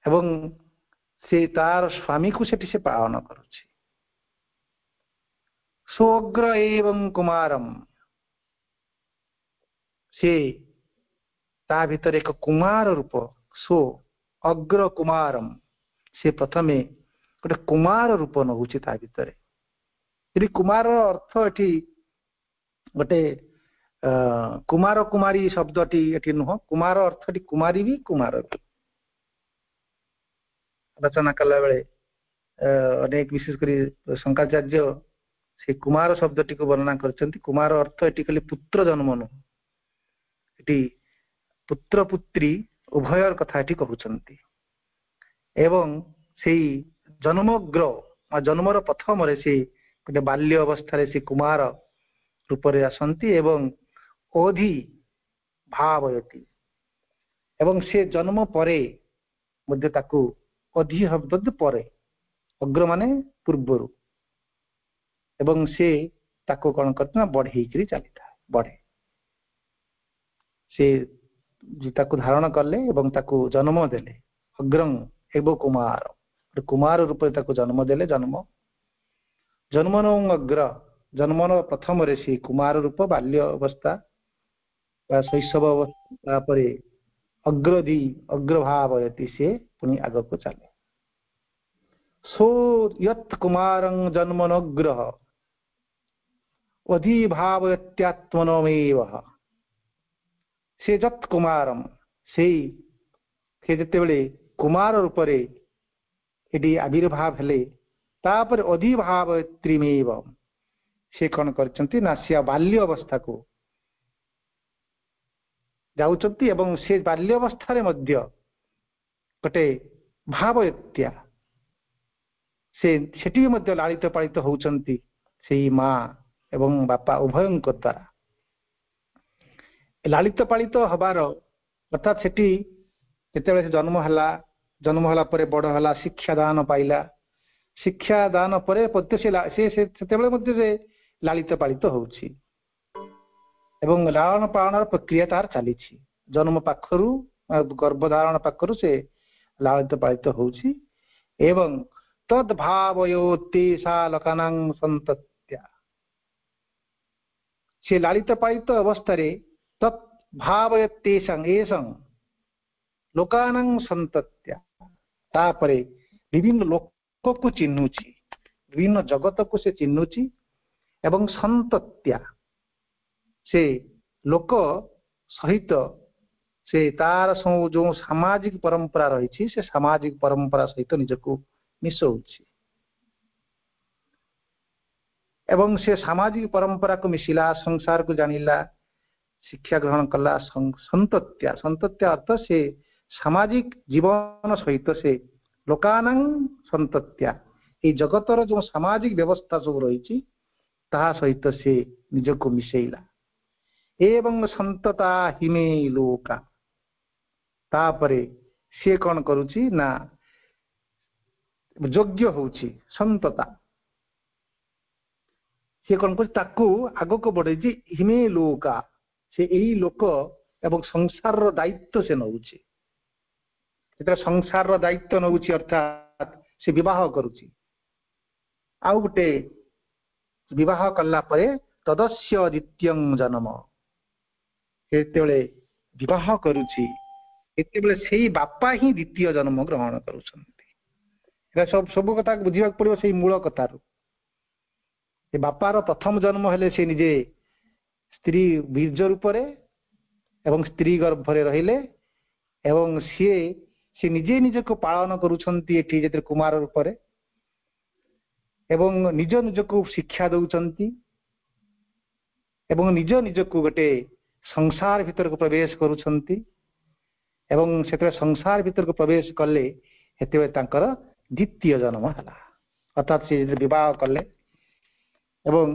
ଏବଂ ସେ ତାର ସ୍ୱାମୀକୁ ସେଠି ସେ ପାଳନ କରୁଛି। ସ୍ୱଗ୍ର ଏବଂ କୁମାରମ, ସେ ତା ଭିତରେ ଏକ କୁମାର ରୂପ, ସ୍ୱ ଅଗ୍ର କୁମାରମ, ସେ ପ୍ରଥମେ ଗୋଟେ କୁମାର ରୂପ ନଉଛି ତା ଭିତରେ। ଏଠି କୁମାରର ଅର୍ଥ ଏଠି ଗୋଟେ ଅ କୁମାର କୁମାରୀ ଶବ୍ଦଟି ଏଠି ନୁହଁ, କୁମାର ଅର୍ଥଟି କୁମାରୀ ବି କୁମାର ବି। ଆଲୋଚନା କଲା ବେଳେ ଅନେକ, ବିଶେଷ କରି ଶଙ୍କରାଚାର୍ଯ୍ୟ ସେ କୁମାର ଶବ୍ଦଟିକୁ ବର୍ଣ୍ଣନା କରିଛନ୍ତି। କୁମାର ଅର୍ଥ ଏଠି ଖାଲି ପୁତ୍ର ଜନ୍ମ ନୁହଁ, ଏଠି ପୁତ୍ର ପୁତ୍ରୀ ଉଭୟର କଥା ଏଠି କହୁଛନ୍ତି। ଏବଂ ସେଇ ଜନ୍ମଗ୍ର ବା ଜନ୍ମର ପ୍ରଥମରେ ସେ ଗୋଟେ ବାଲ୍ୟ ଅବସ୍ଥାରେ ସେ କୁମାର ରୂପରେ ଆସନ୍ତି ଏବଂ ଅଧି ଭାବୟତି, ଏବଂ ସେ ଜନ୍ମ ପରେ ମଧ୍ୟ ତାକୁ ଅଧି ଶବ୍ଦ ପରେ, ଅଗ୍ର ମାନେ ପୂର୍ବରୁ, ଏବଂ ସେ ତାକୁ କଣ କରେ ନା ବଢେଇକିରି ଚାଲିଥାଏ, ବଢେ। ସେ ତାକୁ ଧାରଣ କଲେ ଏବଂ ତାକୁ ଜନ୍ମ ଦେଲେ, ଅଗ୍ରଂ ହେବ କୁମାର, କୁମାର ରୂପରେ ତାକୁ ଜନ୍ମ ଦେଲେ। ଜନ୍ମ ଜନ୍ମନ ଅଗ୍ର, ଜନ୍ମର ପ୍ରଥମରେ ସେ କୁମାର ରୂପ ବାଲ୍ୟ ଅବସ୍ଥା ବା ଶୈଶବ ଅବସ୍ଥା, ତାପରେ ଅଗ୍ରଧି ଅଗ୍ରଭାବୟତି, ସେ ପୁଣି ଆଗକୁ ଚାଲେ। ସୋ ୟତ୍ କୁମାରଂ ଜନ୍ମନଗ୍ରହ ଅଧିଭାବୟତ୍ୟାତ୍ମନମେବ, ସେ ଯତ୍ କୁମାରಂ, ସେଇ ସେ ଯେତେବେଳେ କୁମାର ରୂପରେ ଏଠି ଆବିର୍ଭାବ ହେଲେ, ତାପରେ ଅଧିଭାବୟତ୍ରୀମେବ, ସେ କଣ କରିଛନ୍ତି ନା ସେ ବାଲ୍ୟ ଅବସ୍ଥାକୁ ଯାଉଛନ୍ତି ଏବଂ ସେ ବାଲ୍ୟ ଅବସ୍ଥାରେ ମଧ୍ୟ ଗୋଟେ ଭାବୟତ୍ୟା, ସେ ସେଠି ବି ମଧ୍ୟ ଲାଳିତ ପାଳିତ ହଉଛନ୍ତି ସେଇ ମା ଏବଂ ବାପା ଉଭୟଙ୍କ ଦ୍ୱାରା। ଲାଳିତ ପାଳିତ ହବାର ଅର୍ଥାତ୍ ସେଠି ଯେତେବେଳେ ସେ ଜନ୍ମ ହେଲା, ଜନ୍ମ ହେଲା ପରେ ବଡ ହେଲା, ଶିକ୍ଷାଦାନ ପାଇଲା, ଶିକ୍ଷାଦାନ ପରେ ମଧ୍ୟ ସେ ସେତେବେଳେ ମଧ୍ୟ ସେ ଲାଳିତ ପାଳିତ ହଉଛି ଏବଂ ଲାଳନ ପାଳନର ପ୍ରକ୍ରିୟା ତାର ଚାଲିଛି। ଜନ୍ମ ପାଖରୁ, ଗର୍ଭଧାରଣ ପାଖରୁ ସେ ଲାଳିତ ପାଳିତ ହଉଛି ଏବଂ ତଦ୍ଭାବୟୋତେଷା ଲୋକାନାଂ ସନ୍ତତ୍ୟା, ସେ ଲାଳିତ ପାଳିତ ଅବସ୍ଥାରେ ତତ୍ ଭାବୟତେଷାଂ ଏଷଂ ଲୋକାନାଂ ସନ୍ତତ୍ୟା, ତାପରେ ବିଭିନ୍ନ ଲୋକକୁ ଚିହ୍ନୁଛି, ବିଭିନ୍ନ ଜଗତକୁ ସେ ଚିହ୍ନୁଛି ଏବଂ ସନ୍ତତ୍ୟା, ସେ ଲୋକ ସହିତ ସେ ତାର ସବୁ ଯୋଉ ସାମାଜିକ ପରମ୍ପରା ରହିଛି, ସେ ସାମାଜିକ ପରମ୍ପରା ସହିତ ନିଜକୁ ମିଶଉଛି ଏବଂ ସେ ସାମାଜିକ ପରମ୍ପରାକୁ ମିଶିଲା, ସଂସାରକୁ ଜାଣିଲା, ଶିକ୍ଷା ଗ୍ରହଣ କଲା। ସନ୍ତତ୍ୟା, ସନ୍ତତ୍ୟା ଅର୍ଥ ସେ ସାମାଜିକ ଜୀବନ ସହିତ ସେ ଲୋକାନାଂ ସନ୍ତତ୍ୟା, ଏଇ ଜଗତର ଯୋଉ ସାମାଜିକ ବ୍ୟବସ୍ଥା ସବୁ ରହିଛି ତାହା ସହିତ ସେ ନିଜକୁ ମିଶେଇଲା। ଏବଂ ସନ୍ତତା ହିମେ ଲୋକା, ତାପରେ ସିଏ କଣ କରୁଛି ନା ଯୋଗ୍ୟ ହଉଛି। ସନ୍ତତା, ସିଏ କଣ କରୁଛି? ତାକୁ ଆଗକୁ ବଢେଇଛି। ହିମେ ଲୋକା, ସେ ଏଇ ଲୋକ ଏବଂ ସଂସାରର ଦାୟିତ୍ୱ ସେ ନଉଛି। ଯେତେବେଳେ ସଂସାରର ଦାୟିତ୍ୱ ନଉଛି, ଅର୍ଥାତ୍ ସେ ବିବାହ କରୁଛି। ଆଉ ଗୋଟେ ବିବାହ କଲା ପରେ ତଦସ୍ୟ ଦ୍ୱିତୀୟଂ ଜନ୍ମ, ଯେତେବେଳେ ବିବାହ କରୁଛି ସେତେବେଳେ ସେଇ ବାପା ହିଁ ଦ୍ୱିତୀୟ ଜନ୍ମ ଗ୍ରହଣ କରୁଛନ୍ତି। ଏଟା ସବୁ ସବୁ କଥା ବୁଝିବାକୁ ପଡିବ ସେଇ ମୂଳ କଥାରୁ। ସେ ବାପାର ପ୍ରଥମ ଜନ୍ମ ହେଲେ ସେ ନିଜେ ସ୍ତ୍ରୀ ବୀର୍ଯ୍ୟ ରୂପରେ ଏବଂ ସ୍ତ୍ରୀ ଗର୍ଭରେ ରହିଲେ ଏବଂ ସିଏ ସେ ନିଜେ ନିଜକୁ ପାଳନ କରୁଛନ୍ତି ଏଠି ଯେତେବେଳେ କୁମାର ରୂପରେ, ଏବଂ ନିଜ ନିଜକୁ ଶିକ୍ଷା ଦଉଛନ୍ତି ଏବଂ ନିଜ ନିଜକୁ ଗୋଟେ ସଂସାର ଭିତରକୁ ପ୍ରବେଶ କରୁଛନ୍ତି। ଏବଂ ସେତେବେଳେ ସଂସାର ଭିତରକୁ ପ୍ରବେଶ କଲେ, ସେତେବେଳେ ତାଙ୍କର ଦ୍ୱିତୀୟ ଜନ୍ମ ହେଲା। ଅର୍ଥାତ୍ ସେ ବିବାହ କଲେ ଏବଂ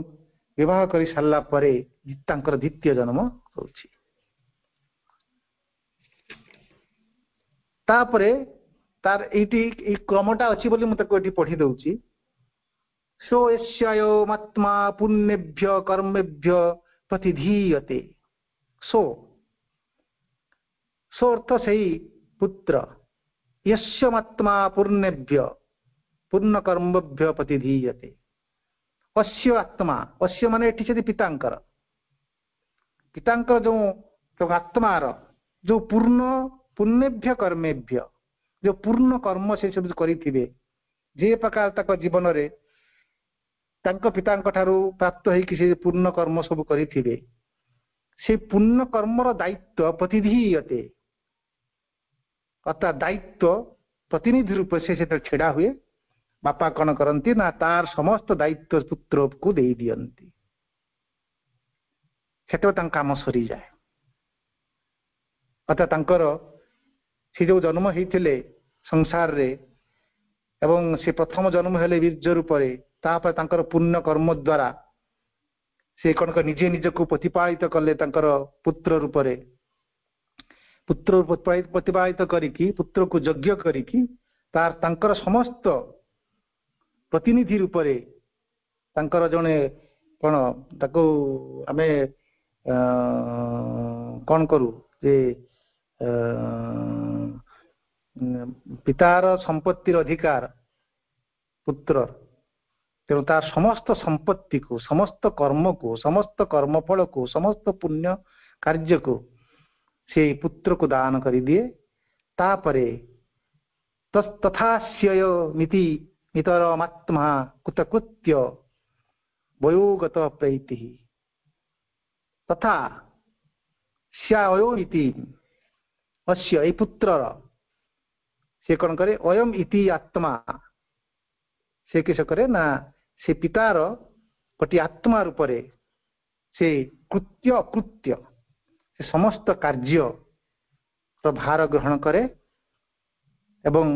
ବିବାହ କରି ସାରିଲା ପରେ ତାଙ୍କର ଦ୍ୱିତୀୟ ଜନ୍ମ ହଉଛି। ତାପରେ ତାର ଏଇଠି ଏଇ କ୍ରମଟା ଅଛି ବୋଲି ମୁଁ ତାକୁ ଏଠି ପଢି ଦଉଛି। ସୋ ଏସ୍ୟାୟମାତ୍ମା ପୁଣ୍ୟେଭ୍ୟ କର୍ମେଭ୍ୟ ପ୍ରତିଧୀୟତେ। ସୋ, ସୋ ଅର୍ଥ ସେଇ ପୁତ୍ର, ୟସ୍ୟମାତ୍ମା ପୂର୍ଣ୍ଣେଭ୍ୟ ପୂର୍ଣ୍ଣ କର୍ମଭ୍ୟ ପ୍ରତିଧୀୟତେ। ଅସ୍ୟ ଆତ୍ମା, ଅସ୍ୟ ମାନେ ଏଠି ସେଠି ପିତାଙ୍କର, ପିତାଙ୍କର ଯୋଉ ଯୋଉ ଆତ୍ମାର ଯୋଉ ପୂର୍ଣ୍ଣ ପୁଣ୍ୟେଭ୍ୟ କର୍ମେଭ୍ୟ, ଯୋଉ ପୂର୍ଣ୍ଣ କର୍ମ ସେ ସବୁ କରିଥିବେ, ଯେ ପ୍ରକାର ତାଙ୍କ ଜୀବନରେ ତାଙ୍କ ପିତାଙ୍କ ଠାରୁ ପ୍ରାପ୍ତ ହେଇକି ସେ ପୂର୍ଣ୍ଣ କର୍ମ ସବୁ କରିଥିବେ, ସେ ପୂର୍ଣ୍ଣ କର୍ମର ଦାୟିତ୍ୱ ପ୍ରତିଧୀୟତେ, ଅର୍ଥାତ୍ ଦାୟିତ୍ୱ ପ୍ରତିନିଧି ରୂପେ ସେ ସେତେବେଳେ ଛିଡା ହୁଏ। ବାପା କଣ କରନ୍ତି ନା ତାର ସମସ୍ତ ଦାୟିତ୍ୱ ପୁତ୍ରକୁ ଦେଇ ଦିଅନ୍ତି। ସେତେବେଳେ ତାଙ୍କ କାମ ସରିଯାଏ। ଅର୍ଥାତ୍ ତାଙ୍କର ସେ ଯୋଉ ଜନ୍ମ ହେଇଥିଲେ ସଂସାରରେ ଏବଂ ସେ ପ୍ରଥମ ଜନ୍ମ ହେଲେ ବୀର୍ଯ୍ୟ ରୂପରେ, ତାପରେ ତାଙ୍କର ପୁଣ୍ୟ କର୍ମ ଦ୍ୱାରା ସେ କଣ ନିଜେ ନିଜକୁ ପ୍ରତିପାଳିତ କଲେ ତାଙ୍କର ପୁତ୍ର ରୂପରେ। ପୁତ୍ର ପ୍ରତିପାଳିତ କରିକି ପୁତ୍ରକୁ ଯଜ୍ଞ କରିକି ତାର ତାଙ୍କର ସମସ୍ତ ପ୍ରତିନିଧି ରୂପରେ ତାଙ୍କର ଜଣେ କଣ ତାକୁ ଆମେ କଣ କରୁ ଯେ ପିତାର ସମ୍ପତ୍ତିର ଅଧିକାର ପୁତ୍ର, ତେଣୁ ତାର ସମସ୍ତ ସମ୍ପତ୍ତିକୁ, ସମସ୍ତ କର୍ମକୁ, ସମସ୍ତ କର୍ମଫଳକୁ, ସମସ୍ତ ପୁଣ୍ୟ କାର୍ଯ୍ୟକୁ ସେ ପୁତ୍ରକୁ ଦାନ କରିଦିଏ। ତାପରେ ତଥାସ୍ୟ ମିତି ମିତରମାତ୍ମା କୃତକୃତ୍ୟ ବୟୋଗତ ପ୍ରୈତି। ତଥା ସ୍ୟାୟୋ ଇତି ଅସ୍ୟ, ଏଇ ପୁତ୍ରର ସେ କଣ କରେ, ଅୟମ ଇତି ଆତ୍ମା, ସେ କିସ କରେ ନା ସେ ପିତାର ଗୋଟିଏ ଆତ୍ମା ରୂପରେ ସେ କୃତ୍ୟ ଅକୃତ୍ୟ ସେ ସମସ୍ତ କାର୍ଯ୍ୟ ଭାର ଗ୍ରହଣ କରେ ଏବଂ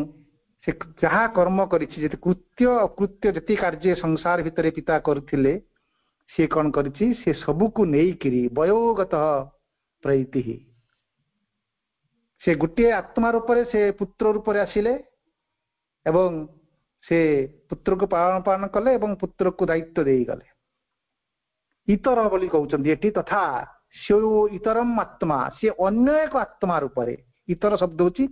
ସେ ଯାହା କର୍ମ କରିଛି, ଯେତେ କୃତ୍ୟ ଅକୃତ୍ୟ ଯେତିକି କାର୍ଯ୍ୟ ସଂସାର ଭିତରେ ପିତା କରୁଥିଲେ, ସିଏ କଣ କରିଛି, ସେ ସବୁକୁ ନେଇକିରି ବୟୋଗତ ପ୍ରୈତି, ସେ ଗୋଟିଏ ଆତ୍ମା ରୂପରେ ସେ ପୁତ୍ର ରୂପରେ ଆସିଲେ ଏବଂ ସେ ପୁତ୍ରକୁ ପାଳନ ପାଳନ କଲେ ଏବଂ ପୁତ୍ରକୁ ଦାୟିତ୍ୱ ଦେଇଗଲେ। ଇତର ବୋଲି କହୁଛନ୍ତି ଏଠି, ତଥା ସେ ଇତରମ ଆତ୍ମା, ସିଏ ଅନ୍ୟ ଏକ ଆତ୍ମା ରୂପରେ, ଇତର ଶବ୍ଦ ହଉଛି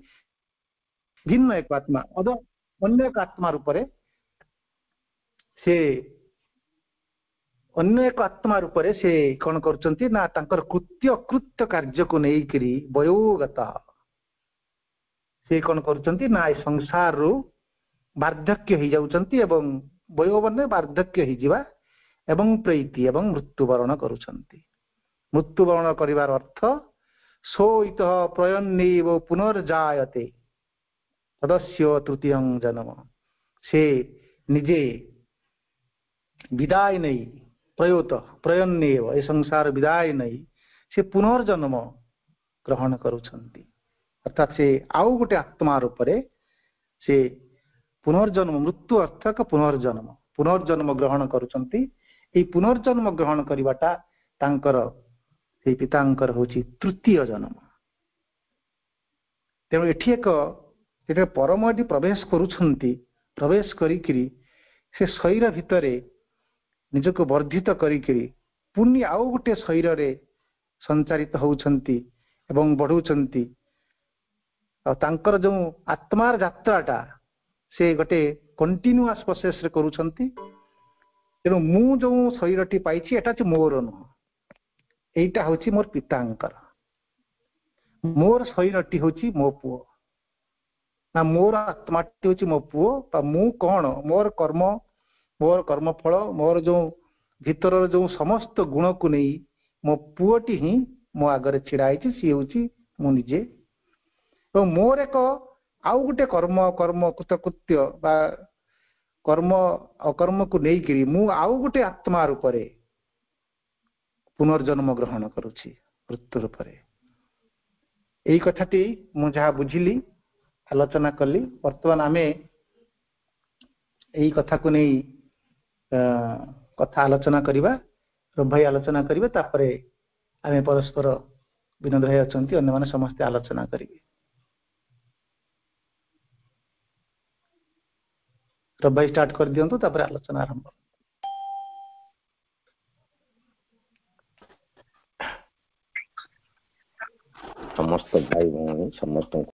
ଭିନ୍ନ ଏକ ଆତ୍ମା, ଅନ୍ୟ ଏକ ଆତ୍ମା ରୂପରେ ସେ ଅନ୍ୟ ଏକ ଆତ୍ମା ରୂପରେ ସେ କଣ କରୁଛନ୍ତି ନା ତାଙ୍କର କୃତ୍ୟ ଅକୃତ୍ୟ କାର୍ଯ୍ୟକୁ ନେଇକିରି ବୟୋଗତ ସେ କଣ କରୁଛନ୍ତି ନା ଏ ସଂସାରରୁ ବାର୍ଦ୍ଧକ୍ୟ ହେଇଯାଉଛନ୍ତି ଏବଂ ବୟୋ ମାନେ ବାର୍ଦ୍ଧକ୍ୟ ହେଇଯିବା ଏବଂ ପ୍ରୈତି ଏବଂ ମୃତ୍ୟୁବରଣ କରୁଛନ୍ତି। ମୃତ୍ୟୁବରଣ କରିବାର ଅର୍ଥ ସୋଇତଃ ପ୍ରୟନ୍ନେବ ପୁନର୍ଜାୟତେ ତଦସ୍ୟ ତୃତୀୟଂ ଜନ୍ମ। ସେ ନିଜେ ବିଦାୟ ନେଇ, ପ୍ରୟୋତ ପ୍ରୟନ୍ନେବ, ଏ ସଂସାର ବିଦାୟ ନେଇ ସେ ପୁନର୍ଜନ୍ମ ଗ୍ରହଣ କରୁଛନ୍ତି। ଅର୍ଥାତ୍ ସେ ଆଉ ଗୋଟେ ଆତ୍ମା ରୂପରେ ସେ ପୁନର୍ଜନ୍ମ, ମୃତ୍ୟୁ ଅର୍ଥ ଏକ ପୁନର୍ଜନ୍ମ, ପୁନର୍ଜନ୍ମ ଗ୍ରହଣ କରୁଛନ୍ତି। ଏଇ ପୁନର୍ଜନ୍ମ ଗ୍ରହଣ କରିବାଟା ତାଙ୍କର, ସେଇ ପିତାଙ୍କର ହଉଛି ତୃତୀୟ ଜନ୍ମ। ତେଣୁ ଏଠି ଏକ ଯେତେବେଳେ ପରମ ଏଠି ପ୍ରବେଶ କରୁଛନ୍ତି, ପ୍ରବେଶ କରିକିରି ସେ ଶରୀର ଭିତରେ ନିଜକୁ ବର୍ଦ୍ଧିତ କରିକିରି ପୁଣି ଆଉ ଗୋଟେ ଶରୀରରେ ସଞ୍ଚାରିତ ହଉଛନ୍ତି ଏବଂ ବଢୁଛନ୍ତି। ଆଉ ତାଙ୍କର ଯୋଉ ଆତ୍ମାର ଯାତ୍ରାଟା ସେ ଗୋଟେ କଣ୍ଟିନ୍ୟୁଆସ୍ ପ୍ରୋସେସରେ କରୁଛନ୍ତି। ତେଣୁ ମୁଁ ଯୋଉ ଶରୀରଟି ପାଇଛି ଏଟା ହଉଛି ମୋର ନୁହଁ, ଏଇଟା ହଉଛି ମୋର ପିତାଙ୍କର। ମୋର ଶରୀରଟି ହଉଛି ମୋ ପୁଅ, ନା ମୋର ଆତ୍ମାଟି ହଉଛି ମୋ ପୁଅ। ବା ମୁଁ କଣ, ମୋର କର୍ମ, ମୋର କର୍ମଫଳ, ମୋର ଯୋଉ ଭିତରର ଯୋଉ ସମସ୍ତ ଗୁଣକୁ ନେଇ ମୋ ପୁଅଟି ହିଁ ମୋ ଆଗରେ ଛିଡା ହେଇଛି, ସିଏ ହଉଛି ମୁଁ ନିଜେ। ଏବଂ ମୋର ଏକ ଆଉ ଗୋଟେ କର୍ମ, କର୍ମ କୃତକୃତ୍ୟ ବା କର୍ମ ଅକର୍ମକୁ ନେଇକିରି ମୁଁ ଆଉ ଗୋଟେ ଆତ୍ମା ରୂପରେ ପୁନର୍ଜନ୍ମ ଗ୍ରହଣ କରୁଛି ମୃତ୍ୟୁ ରୂପରେ। ଏଇ କଥାଟି ମୁଁ ଯାହା ବୁଝିଲି ଆଲୋଚନା କଲି। ବର୍ତ୍ତମାନ ଆମେ ଏଇ କଥାକୁ ନେଇ କଥା ଆଲୋଚନା କରିବା। ରବି ଭାଇ ଆଲୋଚନା କରିବେ, ତାପରେ ଆମେ ପରସ୍ପର, ବିନୋଦ ଭାଇ ଅଛନ୍ତି, ଅନ୍ୟମାନେ ସମସ୍ତେ ଆଲୋଚନା କରିବେ। ରବି ଭାଇ ଷ୍ଟାର୍ଟ କରିଦିଅନ୍ତୁ, ତାପରେ ଆଲୋଚନା ଆରମ୍ଭ। ସମସ୍ତ ଭାଇ ଭଉଣୀ ସମସ୍ତଙ୍କୁ